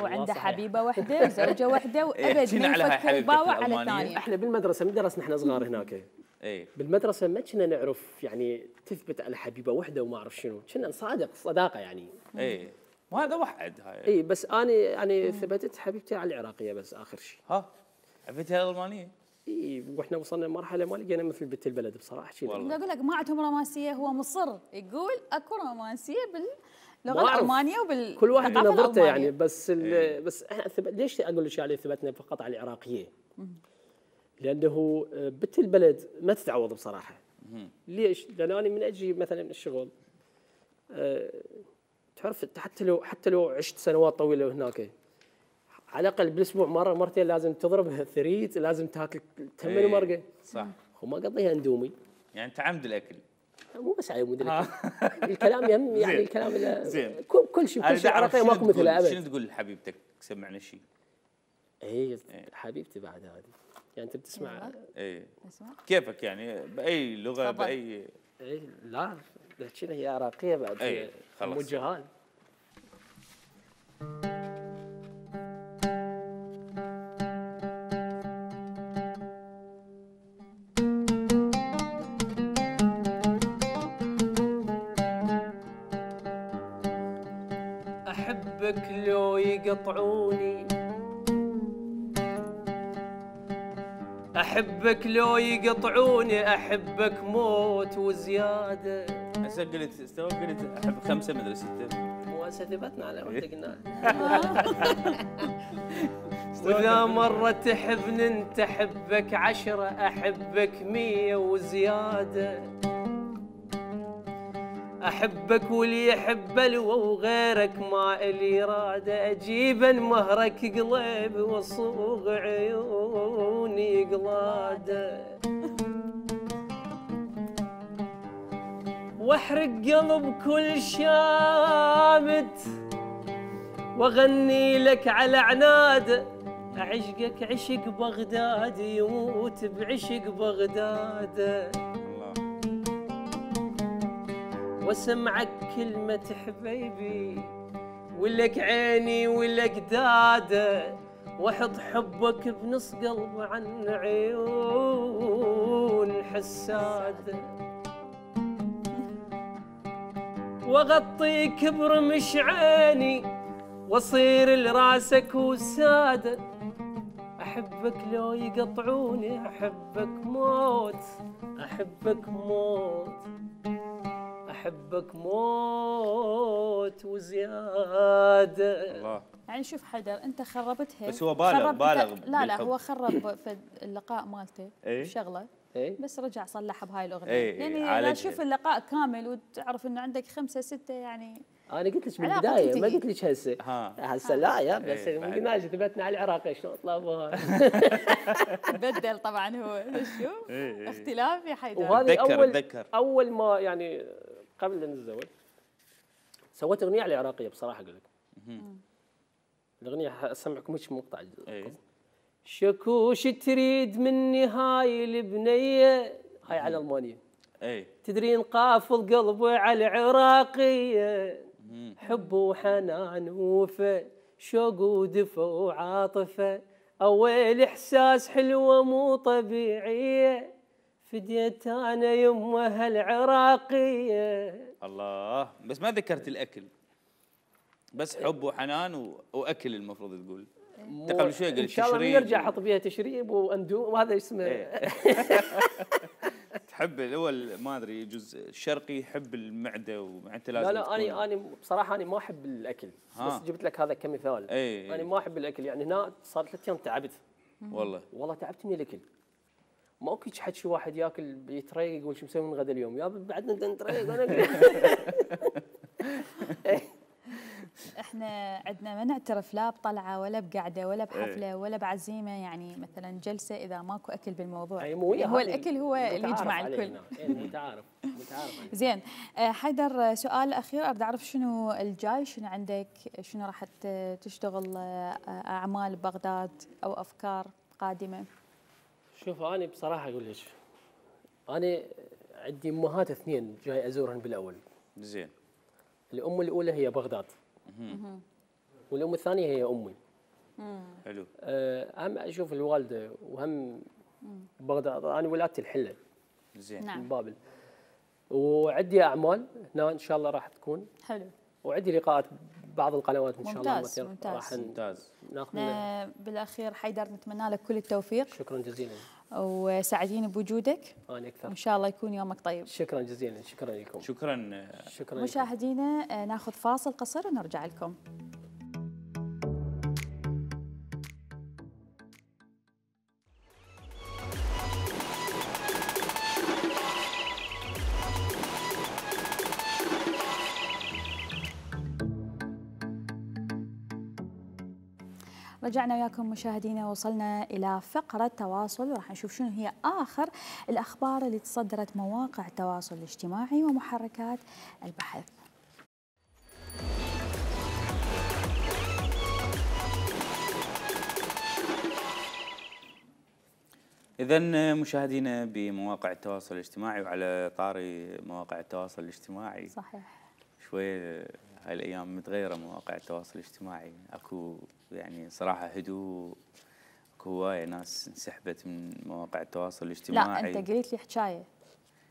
وعنده صحيح. حبيبه واحده وزوجه واحده وابد شنو ما على هاي يفكر حبيبتك باوع على الألمانية؟ الثانيه. احنا بالمدرسه من درسنا احنا صغار هناك. اي بالمدرسه ما كنا نعرف يعني تثبت على حبيبه واحده وما اعرف شنو، كنا صداقه يعني. اي وهذا وحد هاي. اي بس انا يعني ثبتت حبيبتي على العراقيه بس اخر شيء. ها حبيبتها الالمانيه؟ اي واحنا وصلنا لمرحله ما لقينا مثل بنت البلد بصراحه شيء. والله. اقول لك ما عندهم رومانسيه، هو مصر يقول اكو رومانسيه باللغه ما أعرف. الالمانيه كل واحد وبالثقافه نظرته يعني الألمانية. بس بس احنا ليش اقول لك عليه ثبتنا فقط على العراقيه؟ لانه بنت البلد ما تتعوض بصراحه. ليش؟ لان انا من اجي مثلا الشغل تعرف حتى لو عشت سنوات طويله هناك، على الاقل بالاسبوع مره مرتين لازم تضرب ثريت، لازم تاكل تمن مرقه. صح. وما قضيها اندومي. يعني تعمد الاكل. مو بس على مود الاكل. الكلام يهم يعني الكلام زين. كل شيء عراقي ماكو مثله ابد. شنو تقول لحبيبتك؟ سمعنا شيء. اي حبيبتي بعد هذه يعني انت بتسمع. اي كيفك يعني باي لغه باي. اي لا شنو هي عراقيه بعد. اي خلاص مو جهال. احبك لو يقطعوني، احبك لو يقطعوني، احبك موت وزياده. هسه قلت احب 5 مدري 6. مو هسه ثبتنا على ما قلنا. واذا مره تحبني انت احبك 10، احبك 100 وزياده. احبك واللي يحب الو وغيرك ما الي اراده، اجيبا مهرك قلبي وصوغ عيوني قلاده. واحرق قلب كل شامت واغني لك على عناده. عشقك عشق بغداد يموت بعشق بغداد. واسمعك كلمة حبيبي ولك عيني ولك داده، واحط حبك بنص قلب عن عيون حساده. واغطيك برمش عيني واصير لراسك وساده. احبك لو يقطعوني، احبك موت، احبك موت، احبك موت وزياده. الله. يعني شوف حيدر انت خربتها، بس هو بالغ لا بالحب. هو خرب في اللقاء مالته إيه؟ شغله إيه؟ بس رجع صلحها بهاي الاغنيه. إيه، يعني لا عالجها. تشوف اللقاء كامل وتعرف انه عندك 5 6 يعني. انا قلت لك علاقة بالبدايه ما تنتهي. قلت لك هسه. ها. هسه لا يا بس إيه، ما بعد. قلناش ثبتنا على العراقي شلون طلبوها. بدل طبعا هو شو إيه. اختلاف يا حيدر. وهذه أتذكر. اول ما يعني قبل ان نتزوج سويت اغنيه على العراقيه بصراحه اقول لك. الاغنيه اسمعكم هيك مقطع. إيه. شكوش تريد مني هاي البنيه، هاي على المانيا. اي تدرين قافل قلبي على العراقية، حب وحنان ووفا، شوق ودفى وعاطفة، أول إحساس حلوة مو طبيعية، فديت أنا يمها العراقية. الله، بس ما ذكرت الاكل، بس حب وحنان واكل المفروض تقول. انت قبل شوي قلت ان شاء الله نرجع احط بيها تشريب واندوم وهذا اسمه. تحب هو ما ادري يجوز الشرقي يحب المعده ومعدته لازم لا انا بصراحه انا ما احب الاكل، بس جبت لك هذا كمثال. اي انا ما احب الاكل، يعني هنا صار 3 ايام تعبت. والله تعبت من الاكل. ماكو حكي واحد ياكل يتريق يقول شو مسوي من غدا اليوم، يا بعدنا نتريق انا. احنا عندنا ما نعترف لا بطلعه ولا بقعده ولا بحفله ولا بعزيمه، يعني مثلا جلسه اذا ماكو اكل بالموضوع. هو الاكل هو اللي يجمع الكل. متعارف. زين حيدر، سؤال اخير، اريد اعرف شنو الجاي، شنو عندك، شنو راح تشتغل اعمال ببغداد او افكار قادمه؟ شوف انا بصراحه اقول لك، انا عندي امهات 2 جاي ازورهن بالاول. زين. الام الاولى هي بغداد. والام الثانيه هي امي. حلو. هم اشوف الوالده وهم بغداد، انا ولادتي الحله. زين. نعم. من بابل. وعندي اعمال هنا ان شاء الله راح تكون. حلو. وعندي لقاءات بعض القنوات ان شاء الله. ممتاز. ناخذ بالاخير حيدر نتمنى لك كل التوفيق. شكرا جزيلا. وسعيدين بوجودك. انا اكثر. وان شاء الله يكون يومك طيب. شكرا جزيلا. شكرا لكم. شكرا. مشاهدينا ناخذ فاصل قصير ونرجع لكم. رجعنا وياكم مشاهدينا، وصلنا إلى فقرة تواصل، وراح نشوف شنو هي آخر الأخبار اللي تصدرت مواقع التواصل الاجتماعي ومحركات البحث. إذن مشاهدينا بمواقع التواصل الاجتماعي، وعلى طاري مواقع التواصل الاجتماعي، صحيح شوية هاي الأيام متغيرة مواقع التواصل الاجتماعي، أكو يعني صراحة هدوء، أكو هواية ناس انسحبت من مواقع التواصل الاجتماعي. لا أنت قلت لي حكاية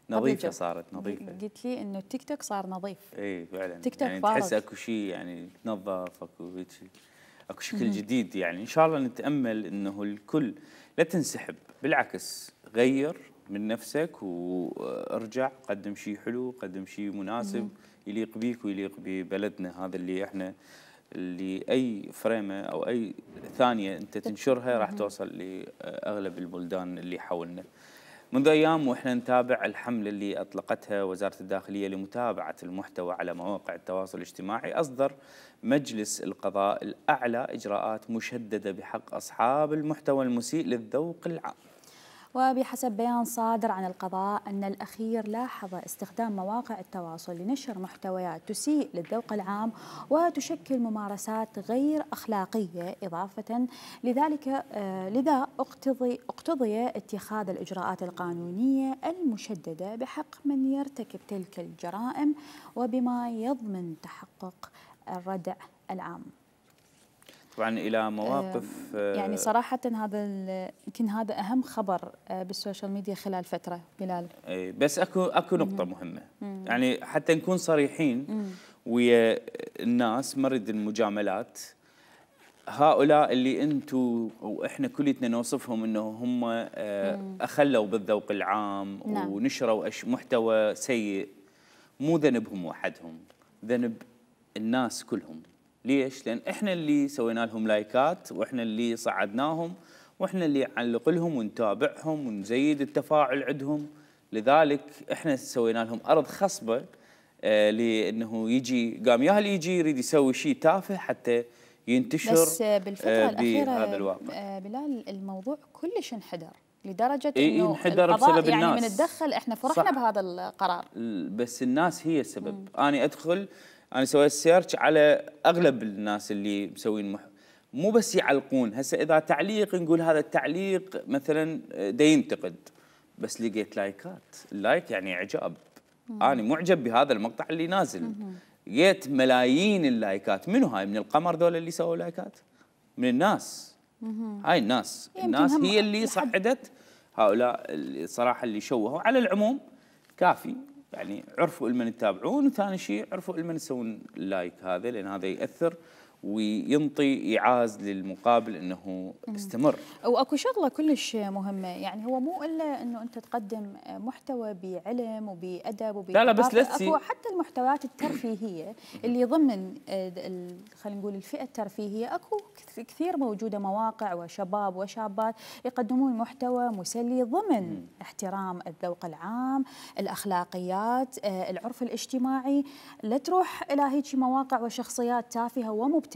نظيفة، صارت نظيفة. قلت لي إنه التيك توك صار نظيف. إي فعلا، تيك توك يعني تحس أكو شيء يعني تنظف، أكو شكل جديد. يعني إن شاء الله نتأمل إنه الكل لا تنسحب، بالعكس غير من نفسك وارجع، قدم شيء حلو، قدم شيء مناسب يليق بيك ويليق ببلدنا هذا اللي احنا، اللي اي فريمه او اي ثانيه انت تنشرها راح توصل لاغلب البلدان اللي حولنا. منذ ايام واحنا نتابع الحمله اللي اطلقتها وزاره الداخليه لمتابعه المحتوى على مواقع التواصل الاجتماعي، اصدر مجلس القضاء الاعلى اجراءات مشدده بحق اصحاب المحتوى المسيء للذوق العام. وبحسب بيان صادر عن القضاء أن الأخير لاحظ استخدام مواقع التواصل لنشر محتويات تسيء للذوق العام وتشكل ممارسات غير أخلاقية إضافة لذلك، لذا اقتضي اتخاذ الإجراءات القانونية المشددة بحق من يرتكب تلك الجرائم وبما يضمن تحقق الردع العام. طبعا الى مواقف يعني صراحه يمكن هذا اهم خبر بالسوشيال ميديا خلال فتره بلال. بس اكو نقطه مهمه، يعني حتى نكون صريحين ويا الناس، مرد المجاملات، هؤلاء اللي انتم واحنا كلنا نوصفهم انه هم اخلوا بالذوق العام ونشروا محتوى سيء، مو ذنبهم وحدهم، ذنب الناس كلهم. ليش؟ لأن إحنا اللي سوينا لهم لايكات، وإحنا اللي صعدناهم، وإحنا اللي نعلق لهم ونتابعهم ونزيد التفاعل عندهم، لذلك إحنا سوينا لهم أرض خصبة لأنه يجي قام ياهل يجي يريد يسوي شيء تافه حتى ينتشر. بس بالفترة الأخيرة هذا الواقع بلال الموضوع كلش انحدر لدرجة إنه انحدر القضاء بسبب يعني الناس. من نتدخل احنا فرحنا بهذا القرار، بس الناس هي السبب. أنا أدخل، أنا سويت سيرش على أغلب الناس اللي مسوين مو بس يعلقون. هسه إذا تعليق نقول هذا التعليق مثلا دا ينتقد، بس لقيت لايكات. اللايك يعني اعجاب. انا معجب بهذا المقطع اللي نازل. لقيت ملايين اللايكات. منو هاي؟ من القمر ذول اللي سووا لايكات؟ من الناس. هاي الناس هي اللي صعدت هؤلاء الصراحه اللي شوهوا. على العموم كافي، يعني عرفوا لمن يتابعون، وثاني شيء عرفوا لمن يسوون اللايك هذا، لان هذا ياثر وينطي ايعاز للمقابل انه استمر. واكو شغله كلش مهمه، يعني هو مو الا انه انت تقدم محتوى بعلم وبادب لا بس اكو حتى المحتويات الترفيهيه اللي ضمن خلينا نقول الفئه الترفيهيه، اكو كثير موجوده مواقع وشباب وشابات يقدمون محتوى مسلي ضمن احترام الذوق العام، الاخلاقيات، العرف الاجتماعي. لا تروح الى هيك مواقع وشخصيات تافهه ومبتذله.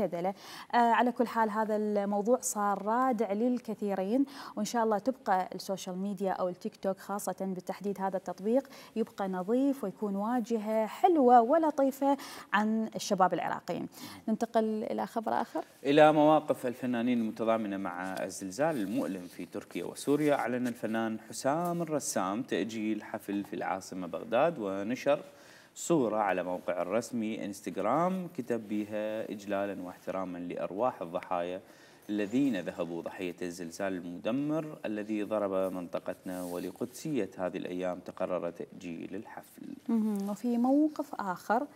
على كل حال هذا الموضوع صار رادع للكثيرين، وإن شاء الله تبقى السوشيال ميديا أو التيك توك خاصة بالتحديد هذا التطبيق يبقى نظيف ويكون واجهة حلوة ولطيفة عن الشباب العراقيين. ننتقل إلى خبر آخر، إلى مواقف الفنانين المتضامنة مع الزلزال المؤلم في تركيا وسوريا. أعلن الفنان حسام الرسام تأجيل حفل في العاصمة بغداد، ونشر صورة على موقع الرسمي انستغرام كتب بها إجلالا واحتراما لأرواح الضحايا الذين ذهبوا ضحية الزلزال المدمر الذي ضرب منطقتنا، ولقدسية هذه الأيام تقرر تأجيل الحفل. وفي موقف آخر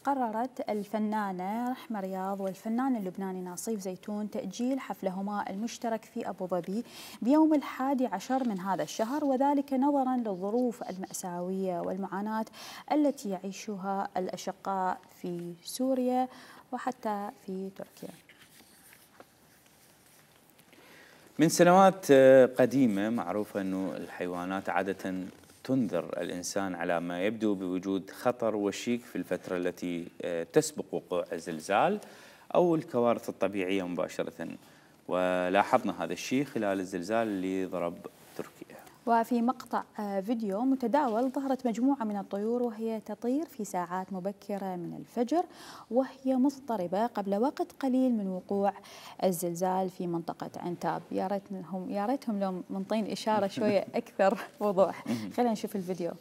قررت الفنانة رحمة رياض والفنان اللبناني ناصيف زيتون تأجيل حفلهما المشترك في أبو ظبي بيوم 11 من هذا الشهر، وذلك نظرا للظروف المأساوية والمعاناة التي يعيشها الأشقاء في سوريا وحتى في تركيا. من سنوات قديمة معروفة أنه الحيوانات عادة تنذر الإنسان على ما يبدو بوجود خطر وشيك في الفترة التي تسبق وقوع الزلزال أو الكوارث الطبيعية مباشرة، ولاحظنا هذا الشيء خلال الزلزال اللي ضرب تركيا. وفي مقطع فيديو متداول ظهرت مجموعة من الطيور وهي تطير في ساعات مبكرة من الفجر وهي مضطربة قبل وقت قليل من وقوع الزلزال في منطقة عنتاب. يا ريتهم لو منطين إشارة شوية أكثر وضوح. خلينا نشوف الفيديو.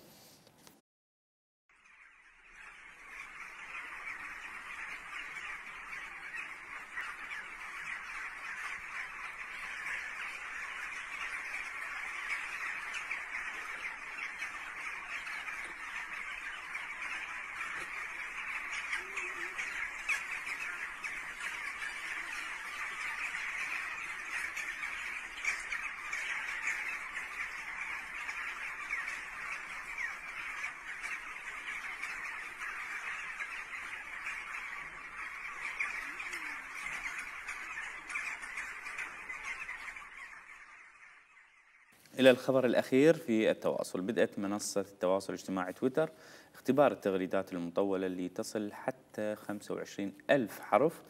إلى الخبر الأخير في التواصل. بدأت منصة التواصل الاجتماعي تويتر اختبار التغريدات المطولة اللي تصل حتى 25,000 حرف،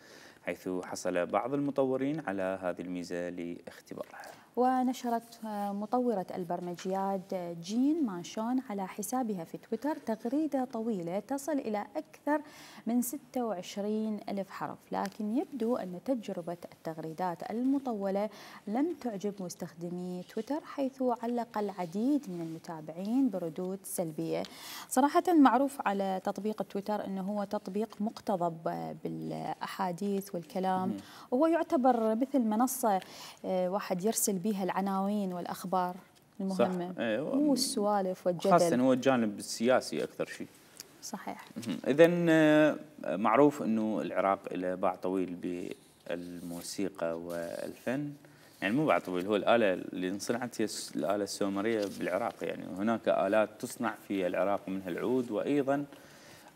حيث حصل بعض المطورين على هذه الميزة لاختبارها. ونشرت مطورة البرمجيات جين مانشون على حسابها في تويتر تغريدة طويلة تصل إلى أكثر من 26,000 حرف، لكن يبدو أن تجربة التغريدات المطولة لم تعجب مستخدمي تويتر، حيث علق العديد من المتابعين بردود سلبية. صراحة معروف على تطبيق تويتر أنه هو تطبيق مقتضب بالأحاديث والكلام، وهو يعتبر مثل منصة واحد يرسل بها العناوين والأخبار المهمة، مو السوالف والجدل، خاصة هو الجانب السياسي أكثر شيء. صحيح. إذن معروف أنه العراق له باع طويل بالموسيقى والفن، يعني مو باع طويل، هو الآلة اللي انصنعت هي الآلة السومرية بالعراق، يعني هناك آلات تصنع في العراق منها العود وأيضا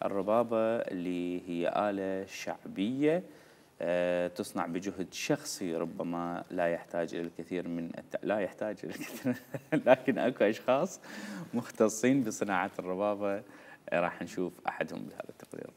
الربابة اللي هي آلة شعبية تصنع بجهد شخصي، ربما لا يحتاج إلى الكثير من لا يحتاج إلى الكثير لكن أكو أشخاص مختصين بصناعة الربابة راح نشوف أحدهم بهذا التقرير.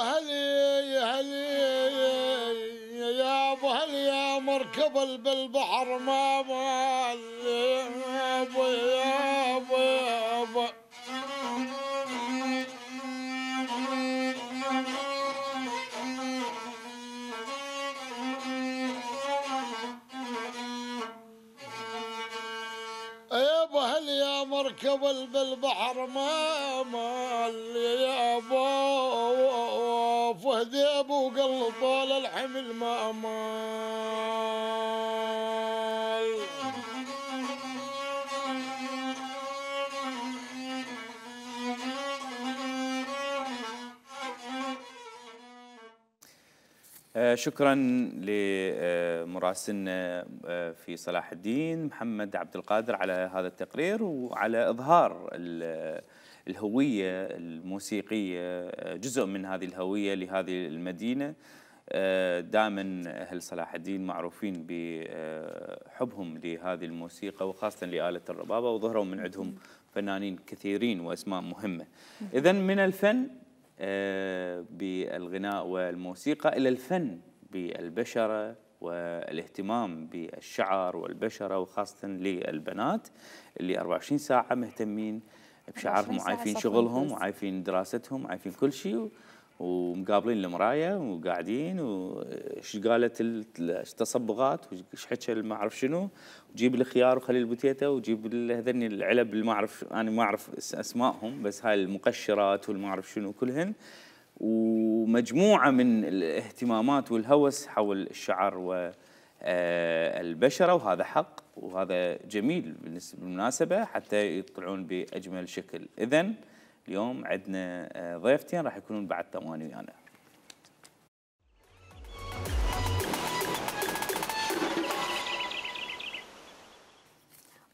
هلي يا ابو هلي يا مركب بالبحر ما مال يا ابو يا ابو يا ابو يا مركب بالبحر ما مال يا ابو فهد يا ابو قل طول الحمل ما مال شكرا لمراسلنا في صلاح الدين محمد عبد القادر على هذا التقرير وعلى إظهار الهوية الموسيقية، جزء من هذه الهوية لهذه المدينة. دائما أهل صلاح الدين معروفين بحبهم لهذه الموسيقى وخاصة لآلة الربابة، وظهروا من عندهم فنانين كثيرين وأسماء مهمة. إذن من الفن بالغناء والموسيقى إلى الفن بالبشرة والاهتمام بالشعر والبشرة، وخاصة للبنات اللي 24 ساعة مهتمين بشعرهم وعايفين شغلهم وعايفين دراستهم وعايفين كل شيء، ومقابلين المراية وقاعدين وش قالت التصبغات وش حكى ما أعرف شنو، وجيب الخيار وخلي البوتيتا وجيب هذني العلب اللي ما أعرف أنا ما أعرف اسمائهم، بس هاي المقشرات والما أعرف شنو كلهن، ومجموعة من الاهتمامات والهوس حول الشعر والبشرة، وهذا حق وهذا جميل بالمناسبة حتى يطلعون بأجمل شكل. إذن اليوم عندنا ضيفتين راح يكونون بعد ثواني ويانا.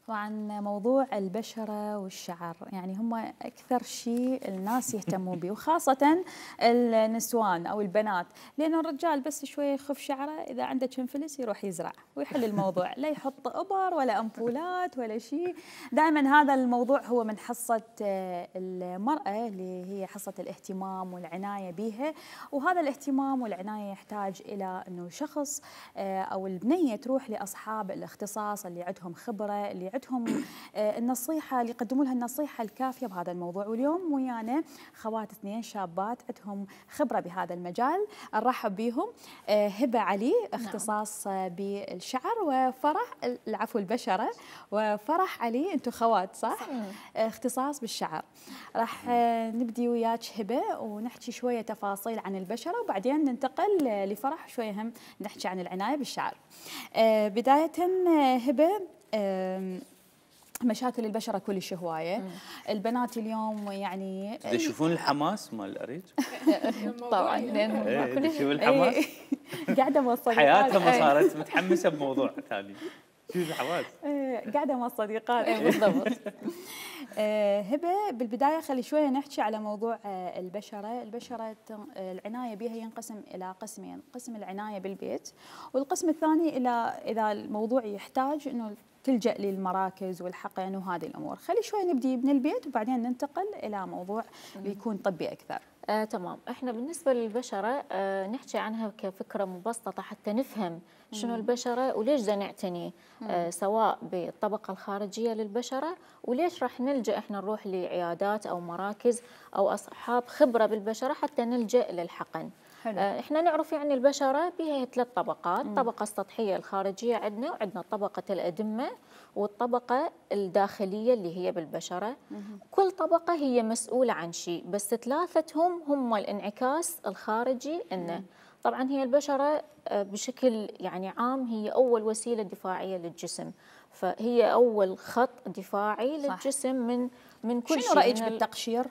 وعن موضوع البشرة والشعر، يعني هم أكثر شيء الناس يهتمون به، وخاصة النسوان أو البنات، لأنه الرجال بس شوية يخف شعره إذا عنده كم فلس يروح يزرع ويحل الموضوع، لا يحط إبر ولا أمبولات ولا شيء. دائما هذا الموضوع هو من حصة المرأة اللي هي حصة الاهتمام والعناية بها، وهذا الاهتمام والعناية يحتاج إلى أنه شخص أو البنية تروح لأصحاب الاختصاص اللي عندهم خبرة، اللي عندهم النصيحة، اللي يقدموا لها النصيحة الكافية بهذا الموضوع. واليوم ويانا خوات اثنين شابات عندهم خبرة بهذا المجال، نرحب بهم. هبة علي اختصاص بالشعر، وفرح العفو البشرة، وفرح علي، انتم خوات صح؟ اختصاص بالشعر. راح نبدي وياك هبة ونحكي شوية تفاصيل عن البشرة، وبعدين ننتقل لفرح شوية هم نحكي عن العناية بالشعر. بداية هبة، مشاكل البشرة كلش هواية. البنات اليوم يعني يشوفون الحماس مال الأريج طبعا، لأن كلش الحماس قاعدة مع الصديقات حياتها ما صارت متحمسة بموضوع ثاني. شو الحماس؟ قاعدة مع الصديقات بالضبط. هبة، بالبداية خلي شوية نحكي على موضوع البشرة. البشرة العناية بها ينقسم إلى قسمين، قسم العناية بالبيت، والقسم الثاني إلى إذا الموضوع يحتاج إنه تلجأ للمراكز والحقن وهذه الأمور. خلي شوي نبدي من البيت وبعدين ننتقل إلى موضوع بيكون طبي أكثر. تمام. احنا بالنسبة للبشرة نحكي عنها كفكرة مبسطة حتى نفهم شنو البشرة وليش بدنا نعتني سواء بالطبقة الخارجية للبشرة، وليش راح نلجأ احنا نروح لعيادات أو مراكز أو أصحاب خبرة بالبشرة حتى نلجأ للحقن. احنا نعرف يعني البشرة بها 3 طبقات، الطبقة السطحية الخارجية عندنا، وعندنا طبقة الأدمة والطبقة الداخلية اللي هي بالبشرة. كل طبقة هي مسؤولة عن شيء، بس 3 هم الانعكاس الخارجي لنا. طبعا هي البشرة بشكل يعني عام هي أول وسيلة دفاعية للجسم، فهي أول خط دفاعي للجسم من كل شيء. شنو رأيك بالتقشير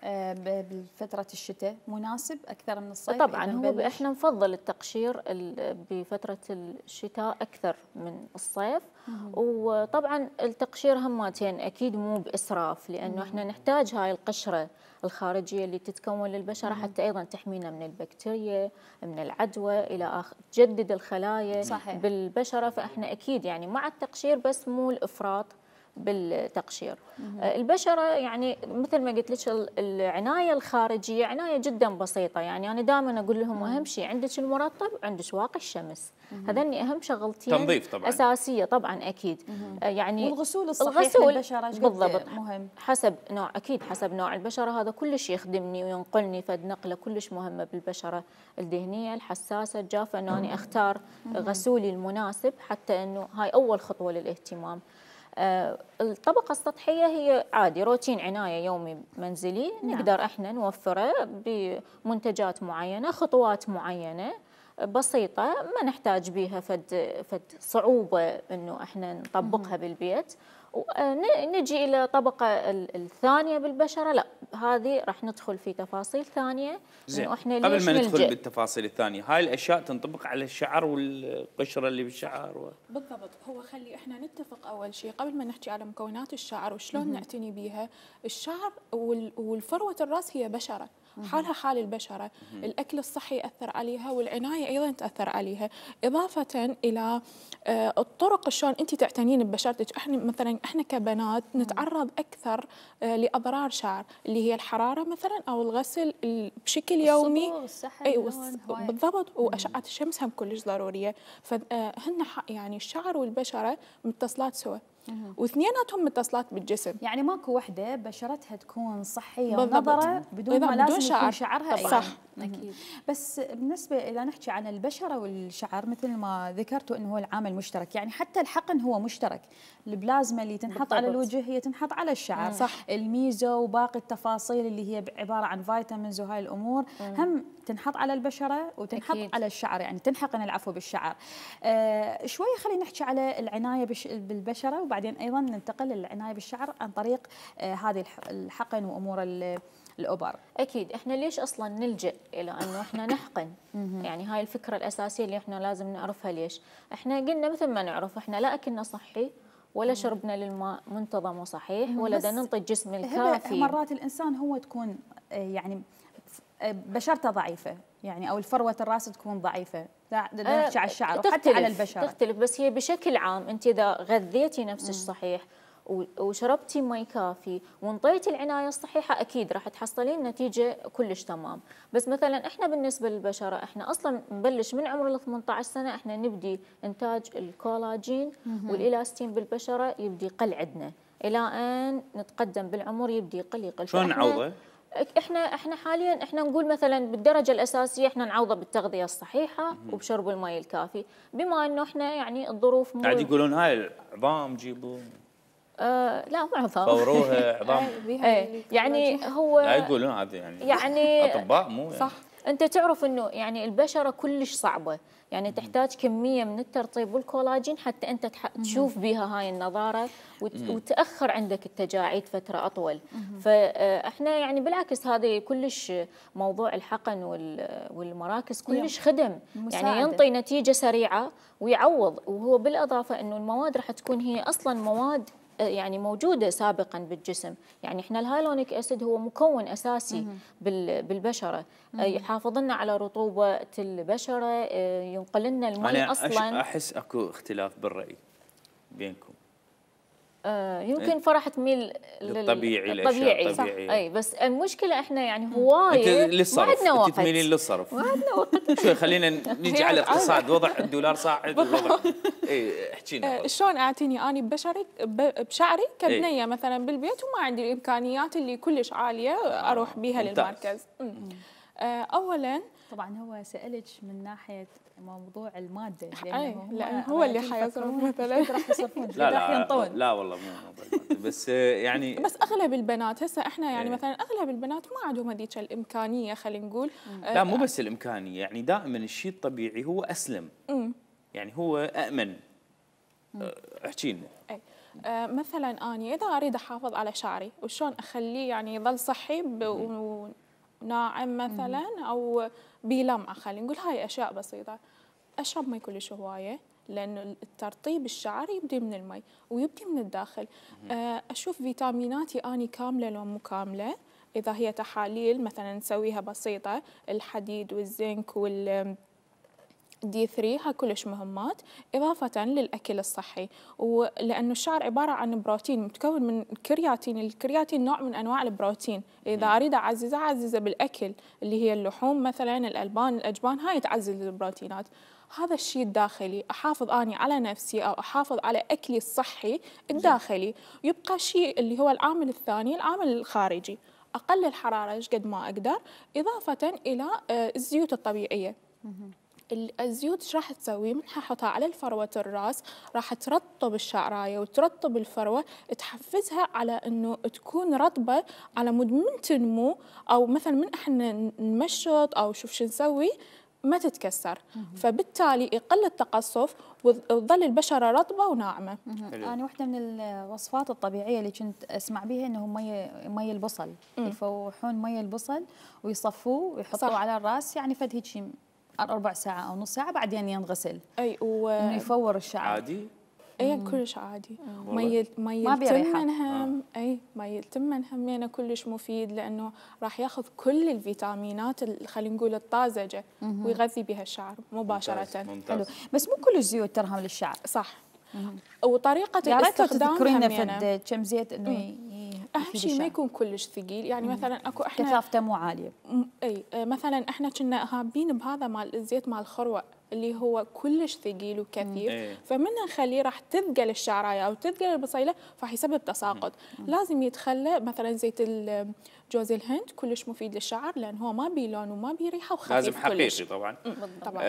بفترة الشتاء؟ مناسب أكثر من الصيف؟ طبعا هو احنا نفضل التقشير بفترة الشتاء أكثر من الصيف. وطبعا التقشير همتين أكيد مو بإسراف، لأنه احنا نحتاج هاي القشرة الخارجية اللي تتكون للبشرة حتى أيضا تحمينا من البكتيريا، من العدوى إلى آخر، تجدد الخلايا بالبشرة. فاحنا أكيد يعني مع التقشير بس مو الإفراط بالتقشير. البشرة يعني مثل ما قلت لك العناية الخارجية عناية جدا بسيطة، يعني أنا دائما أقول لهم أهم شيء عندك المرطب وعندك واقي الشمس، هذني أهم شغلتين تنظيف طبعا أساسية طبعا أكيد. يعني والغسول الصحيح للبشرة بالضبط مهم حسب نوع، أكيد حسب نوع البشرة، هذا كلش يخدمني وينقلني فد نقلة كلش مهمة بالبشرة الدهنية الحساسة الجافة، أنه أنا أختار غسولي المناسب حتى أنه هاي أول خطوة للاهتمام. الطبقة السطحية هي عادي روتين عناية يومي منزلي نقدر احنا نوفره بمنتجات معينة، خطوات معينة بسيطة ما نحتاج بيها فد صعوبة انه احنا نطبقها بالبيت. ونجي الى طبقة الثانية بالبشرة، لا هذه راح ندخل في تفاصيل ثانية انه احنا قبل ليش ما ندخل نلجأ. بالتفاصيل الثانية، هاي الاشياء تنطبق على الشعر والقشرة اللي بالشعر بالضبط. هو خلي احنا نتفق اول شيء قبل ما نحكي على مكونات الشعر وشلون نعتني بيها. الشعر والفروة الراس هي بشرة حالها حال البشرة، الأكل الصحي يأثر عليها والعناية أيضا تأثر عليها، إضافة إلى الطرق شلون أنت تعتنين ببشرتك. احنا كبنات نتعرض أكثر لأضرار شعر اللي هي الحرارة مثلا أو الغسل بشكل يومي. بالضبط. وأشعة الشمس هم كلش ضرورية، فهن يعني الشعر والبشرة متصلات سوا واثنيناتهم متصلات بالجسم. يعني ماكو وحده بشرتها تكون صحيه ونضره بدون ما لازم يكون شعرها صح. اكيد. بس بالنسبه اذا نحكي عن البشره والشعر مثل ما ذكرتوا انه هو العامل مشترك، يعني حتى الحقن هو مشترك، البلازما اللي تنحط بالضبط. على الوجه هي تنحط على الشعر. صح. الميزو وباقي التفاصيل اللي هي عباره عن فيتامينز وهاي الامور هم تنحط على البشره وتنحط أكيد. على الشعر، يعني تنحقن العفو بالشعر. شويه خلينا نحكي على العنايه بالبشره وبعدين ايضا ننتقل للعنايه بالشعر عن طريق هذه الحقن وامور الأوبر. أكيد إحنا ليش أصلاً نلجأ إلى أنه إحنا نحقن؟ يعني هاي الفكرة الأساسية اللي إحنا لازم نعرفها. ليش؟ إحنا قلنا مثل ما نعرف إحنا لا أكلنا صحي ولا شربنا للماء منتظم وصحيح ولا دا ننطي الجسم الكافي. مرات الإنسان هو تكون يعني بشرته ضعيفة، يعني أو الفروة الراس تكون ضعيفة، نحكي على الشعر وحتى على البشرة تختلف. بس هي بشكل عام أنت إذا غذيتي نفسك صحيح وشربتي مي كافي وانطيتي العنايه الصحيحه اكيد راح تحصلين نتيجه كلش تمام. بس مثلا احنا بالنسبه للبشره احنا اصلا نبلش من عمر ال 18 سنه احنا نبدي انتاج الكولاجين والالاستين بالبشره يبدي يقل عندنا الى ان نتقدم بالعمر يبدي يقل. شلون نعوضه؟ احنا حاليا احنا نقول مثلا بالدرجه الاساسيه احنا نعوضه بالتغذيه الصحيحه وبشرب الماء الكافي، بما انه احنا يعني الظروف قاعد يقولون هاي العظام جيبوا لا مو عظام فوروها عظام يعني هو لا يقولون هذا يعني اطباء مو يعني. صح. انت تعرف انه يعني البشره كلش صعبه، يعني تحتاج كميه من الترطيب والكولاجين حتى انت تشوف بها هاي النضاره وتاخر عندك التجاعيد فتره اطول. فاحنا يعني بالعكس هذه كلش موضوع الحقن والمراكز كلش خدم مساعدة. يعني ينطي نتيجه سريعه ويعوض، وهو بالاضافه انه المواد راح تكون هي اصلا مواد يعني موجودة سابقا بالجسم. يعني احنا الهايلونيك اسيد هو مكون اساسي بالبشرة، يحافظ لنا على رطوبة البشرة، ينقل لنا الماء اصلا. احس اكو اختلاف بالرأي بينكم. يمكن فرح تميل للطبيعي صح. اي بس المشكله احنا يعني هوايه ما عندنا وقت. انت تميلين للصرف. ما عندنا وقت. شوي خلينا نجي على الاقتصاد، وضع الدولار صاعد والوضع احكينا شلون اعتني اني بشعري كبنيه مثلا بالبيت وما عندي الامكانيات اللي كلش عاليه اروح بيها للمركز. اولا طبعا هو سألك من ناحيه موضوع الماده لانه هو اللي حيصرف مثلا راح يصرفون لا والله مو موضوع بس يعني بس اغلب البنات هسه احنا يعني مثلا اغلب البنات ما عندهم هذيك الامكانيه خلينا نقول. لا مو بس الامكانيه، يعني دائما الشيء الطبيعي هو اسلم. يعني هو امن. احكي لنا. مثلا اني اذا اريد احافظ على شعري وشلون اخليه يعني يظل صحي وناعم مثلا او بلمعه، خلينا نقول هاي اشياء بسيطه. اشرب مي كلش هوايه لانه الترطيب الشعر يبدي من المي ويبدي من الداخل. اشوف فيتاميناتي اني كامله لو مو كامله، اذا هي تحاليل مثلا نسويها بسيطه، الحديد والزنك دي 3 ها كلش مهمات إضافة للأكل الصحي، ولأنه الشعر عبارة عن بروتين متكون من الكرياتين. الكرياتين نوع من أنواع البروتين، إذا أريد أعززه بالأكل اللي هي اللحوم مثلا، الألبان، الأجبان، هاي تعزز البروتينات. هذا الشيء الداخلي أحافظ أني على نفسي أو أحافظ على أكلي الصحي الداخلي. يبقى شيء اللي هو العامل الثاني، العامل الخارجي، أقلل حرارة قد ما أقدر، إضافة إلى الزيوت الطبيعية. الزيوت ايش راح تسوي؟ من حاحطها على الفروة الراس، راح ترطب الشعرايه وترطب الفروه، تحفزها على انه تكون رطبه على مود من تنمو، او مثلا من احنا نمشط او شوف شو نسوي ما تتكسر، فبالتالي يقل التقصف وتظل البشره رطبه وناعمه. انا واحده من الوصفات الطبيعيه اللي كنت اسمع بها انه مي البصل، يفوحون مي البصل ويصفوه ويحطوه على الراس، يعني فد هيك شيء 4 ساعة أو نص ساعة بعدين ينغسل. أي إنه يفور الشعر. عادي؟ أي كلش عادي. مي التمن هم أي مي التمن همينه كلش مفيد، لأنه راح ياخذ كل الفيتامينات خلينا نقول الطازجة ويغذي بها الشعر مباشرة. ممتاز. حلو، بس مو كل الزيوت ترهم للشعر. صح. وطريقة الاستخدام تذكرين فد كم زيت إنه أهم شيء ما يكون كلش ثقيل، يعني مثلا اكو احنا كثافته مو عالية. اي مثلا احنا كنا هابين بهذا مال الزيت مال الخروع اللي هو كلش ثقيل وكثيف، فمن نخليه راح تثقل الشعرايه او تثقل البصيله، فراح يسبب تساقط. لازم يتخلى مثلا زيت جوز الهند كلش مفيد للشعر، لان هو ما بيه لون وما بيه ريحه وخفيف لازم حقيقي كلش. طبعا. طبعا.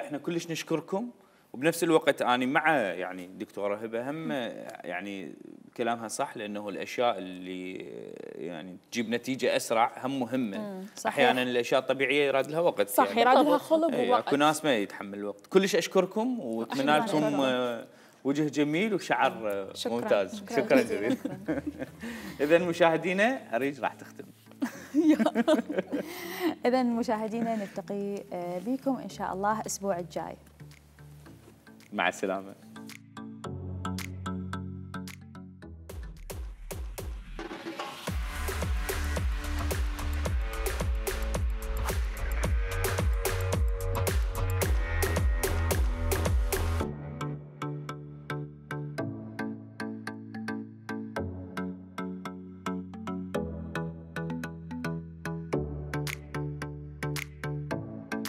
احنا كلش نشكركم، وبنفس الوقت أنا مع يعني دكتورة هبة هم يعني كلامها صح، لأنه الأشياء اللي يعني تجيب نتيجة أسرع هم مهمة. أحيانا الأشياء الطبيعية يراد لها وقت، صح يعني يراد لها خلق ووقت. اكو ناس ما يتحمل الوقت. كلش أشكركم وأتمنى لكم وجه جميل وشعر ممتاز. شكرا جزيلا. إذا مشاهدينا أريج راح تختم. إذا مشاهدينا نلتقي بكم إن شاء الله الأسبوع الجاي. مع السلامة.